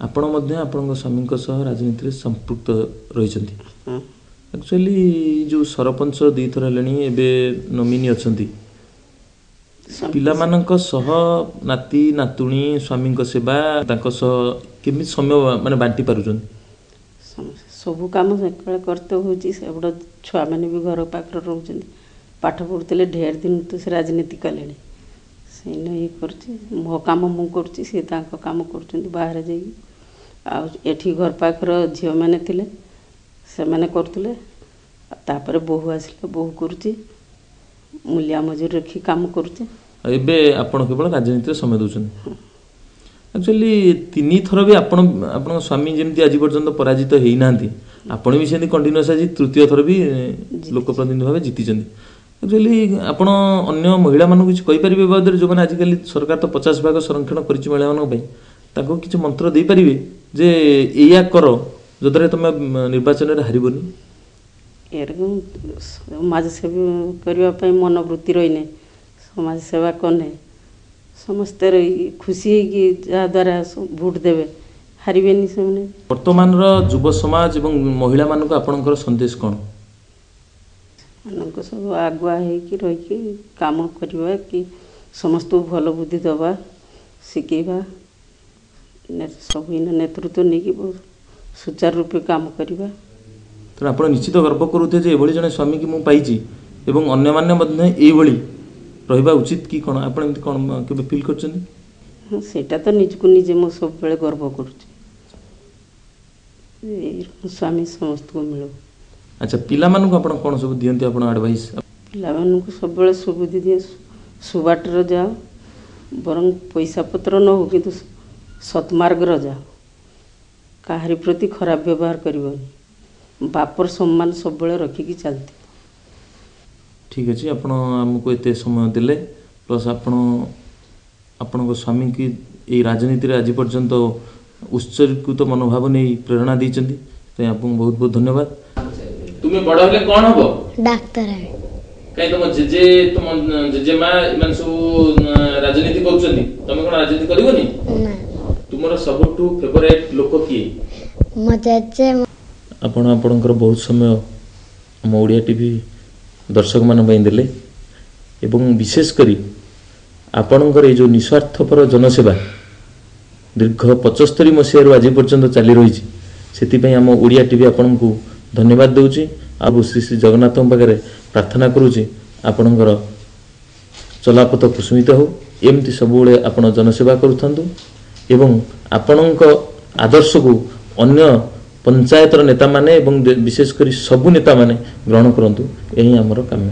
ଆପଣ ମଧ୍ୟ ଆପଣଙ୍କ ସ୍ୱାମୀଙ୍କ ସହ ରାଜନୀତିରେ ସମ୍ପୃକ୍ତ ରହିଛନ୍ତି। ଆକ୍ଚୁଆଲି ଯେଉଁ ସରପଞ୍ଚ 2 ଥର ହେଲେଣି, ଏବେ ନମିନି ଅଛନ୍ତି, ପିଲାମାନଙ୍କ ସହ ନାତି ନାତୁଣୀ ସ୍ୱାମୀଙ୍କ ସେବା ତାଙ୍କ ସହ କେମିତି ସମୟ ମାନେ ବାଣ୍ଟି ପାରୁଛନ୍ତି? ସବୁ କାମ ସେତେବେଳେ କରତେ ହେଉଛି। ସେପଟ ଛୁଆମାନେ ବି ଘର ପାଖରେ ରହୁଛନ୍ତି, ପାଠ ପଢ଼ୁଥିଲେ। ଢେର ଦିନ ତ ସେ ରାଜନୀତି କଲେଣି, ସେଇନ ଇଏ କରୁଛି। ମୋ କାମ ମୁଁ କରୁଛି, ସେ ତାଙ୍କ କାମ କରୁଛନ୍ତି ବାହାରେ ଯାଇକି। ଆଉ ଏଠି ଘର ପାଖର ଝିଅମାନେ ଥିଲେ, ସେମାନେ କରୁଥିଲେ। ତାପରେ ବୋହୂ ଆସିଲେ, ବୋହୂ କରୁଛି, ମୂଲିଆ ମଜୁରୀ ରଖି କାମ କରୁଛି। ଆଉ ଏବେ ଆପଣ କେବଳ ରାଜନୀତିରେ ସମୟ ଦେଉଛନ୍ତି। ଆକ୍ଚୁଆଲି 3 ଥର ବି ଆପଣ ଆପଣଙ୍କ ସ୍ୱାମୀ ଯେମିତି ଆଜି ପର୍ଯ୍ୟନ୍ତ ପରାଜିତ ହେଇନାହାନ୍ତି, ଆପଣ ବି ସେମିତି କଣ୍ଟିନ୍ୟୁଅସ୍ ଆଜି ତୃତୀୟ ଥର ବି ଲୋକପ୍ରତିନିଧି ଭାବେ ଜିତିଛନ୍ତି। ଆକ୍ଚୁଆଲି ଆପଣ ଅନ୍ୟ ମହିଳାମାନଙ୍କୁ କିଛି କହିପାରିବେ ବାବଦରେ, ଯେଉଁମାନେ ଆଜିକାଲି ସରକାର ତ 50% ସଂରକ୍ଷଣ କରିଛି ମହିଳାମାନଙ୍କ ପାଇଁ, ତାଙ୍କୁ କିଛି ମନ୍ତ୍ର ଦେଇପାରିବେ ଯେ ଏଇଆ କର ଯଦ୍ୱାରା ତୁମେ ନିର୍ବାଚନରେ ହାରିବନି? ଏରକମ ସମାଜ ସେବା କରିବା ପାଇଁ ମନୋବୃତ୍ତି ରହିନେ, ସମାଜ ସେବା କଲେ ସମସ୍ତେ ଖୁସି ହେଇକି ଯାହାଦ୍ୱାରା ଭୋଟ ଦେବେ, ହାରିବେନି ସେମାନେ। ବର୍ତ୍ତମାନର ଯୁବ ସମାଜ ଏବଂ ମହିଳାମାନଙ୍କୁ ଆପଣଙ୍କର ସନ୍ଦେଶ କ'ଣ? ସେମାନଙ୍କୁ ସବୁ ଆଗୁଆ ହେଇକି ରହିକି କାମ କରିବା କି ସମସ୍ତଙ୍କୁ ଭଲ ବୁଦ୍ଧି ଦେବା, ଶିଖେଇବା, ସବୁ ନେତୃତ୍ୱ ନେଇକି ସୁଚାରୁ ରୂପେ କାମ କରିବା। ତେଣୁ ଆପଣ ନିଶ୍ଚିତ ଗର୍ବ କରୁଥିବେ ଯେ ଏଭଳି ଜଣେ ସ୍ୱାମୀକି ମୁଁ ପାଇଛି ଏବଂ ଅନ୍ୟମାନେ ମଧ୍ୟ ଏଇଭଳି ରହିବା ଉଚିତ କି କ'ଣ? ଆପଣ ଏମିତି କ'ଣ କେବେ ଫିଲ୍ କରିଛନ୍ତି? ହଁ, ସେଇଟା ତ ନିଜକୁ ନିଜେ ମୁଁ ସବୁବେଳେ ଗର୍ବ କରୁଛି, ଏଇ ସ୍ୱାମୀ ସମସ୍ତଙ୍କୁ ମିଳୁ। ଆଚ୍ଛା, ପିଲାମାନଙ୍କୁ ଆପଣ କ'ଣ ସବୁ ଦିଅନ୍ତି ଆପଣ ଆଡ଼ଭାଇସ୍? ପିଲାମାନଙ୍କୁ ସବୁବେଳେ ସୁବୁଦ୍ଧି ଦିଏ, ସୁବାଟରେ ଯାଅ, ବରଂ ପଇସା ପତ୍ର ନ ହଉ କିନ୍ତୁ ସତ୍ମାର୍ଗର ଯାଅ, କାହାରି ପ୍ରତି ଖରାପ ବ୍ୟବହାର କରିବନି, ବାପର ସମ୍ମାନ ସବୁବେଳେ ରଖିକି ଚାଲିଥିବ। ଠିକ୍ ଅଛି, ଆପଣ ଆମକୁ ଏତେ ସମୟ ଦେଲେ, ପ୍ଲସ୍ ଆପଣ ଆପଣଙ୍କ ସ୍ୱାମୀକି ଏଇ ରାଜନୀତିରେ ଆଜି ପର୍ଯ୍ୟନ୍ତ ଉତ୍ସର୍ଗୀକୃତ ମନୋଭାବ ନେଇ ପ୍ରେରଣା ଦେଇଛନ୍ତି, ସେଥିପାଇଁ ଆପଣଙ୍କୁ ବହୁତ ବହୁତ ଧନ୍ୟବାଦ। ତୁମେ ବଡ଼ ହେଲେ କ'ଣ ହବ? ଡାକ୍ତର ହେବି। କାହିଁ, ତମ ଜେଜେ, ତମ ଜେଜେମା ଏମାନେ ସବୁ ରାଜନୀତି କରୁଛନ୍ତି, ତମେ କ'ଣ ରାଜନୀତି କରିବନି? ନା। ତୁମର ସବୁଠୁ ଫେଭରାଇଟ୍ ଲୋକ କିଏ? ମୋ ଜେଜେ। ଆପଣ ଆପଣଙ୍କର ବହୁତ ସମୟ ଆମ ଓଡ଼ିଆ ଟିଭି ଦର୍ଶକମାନଙ୍କ ପାଇଁ ଦେଲେ ଏବଂ ବିଶେଷ କରି ଆପଣଙ୍କର ଏଇ ଯେଉଁ ନିସ୍ୱାର୍ଥପର ଜନସେବା ଦୀର୍ଘ 75 ମସିହାରୁ ଆଜି ପର୍ଯ୍ୟନ୍ତ ଚାଲି ରହିଛି, ସେଥିପାଇଁ ଆମ ଓଡ଼ିଆ ଟିଭି ଆପଣଙ୍କୁ ଧନ୍ୟବାଦ ଦେଉଛି। ଆଉ ଶ୍ରୀ ଶ୍ରୀ ଜଗନ୍ନାଥଙ୍କ ପାଖରେ ପ୍ରାର୍ଥନା କରୁଛି ଆପଣଙ୍କର ଚଲାପଥ କୁସୁମିତ ହେଉ, ଏମିତି ସବୁବେଳେ ଆପଣ ଜନସେବା କରୁଥାନ୍ତୁ ଏବଂ ଆପଣଙ୍କ ଆଦର୍ଶକୁ ଅନ୍ୟ ପଞ୍ଚାୟତର ନେତାମାନେ ଏବଂ ବିଶେଷ କରି ସବୁ ନେତାମାନେ ଗ୍ରହଣ କରନ୍ତୁ, ଏହି ଆମର କାମ୍ୟ।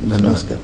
ନମସ୍କାର।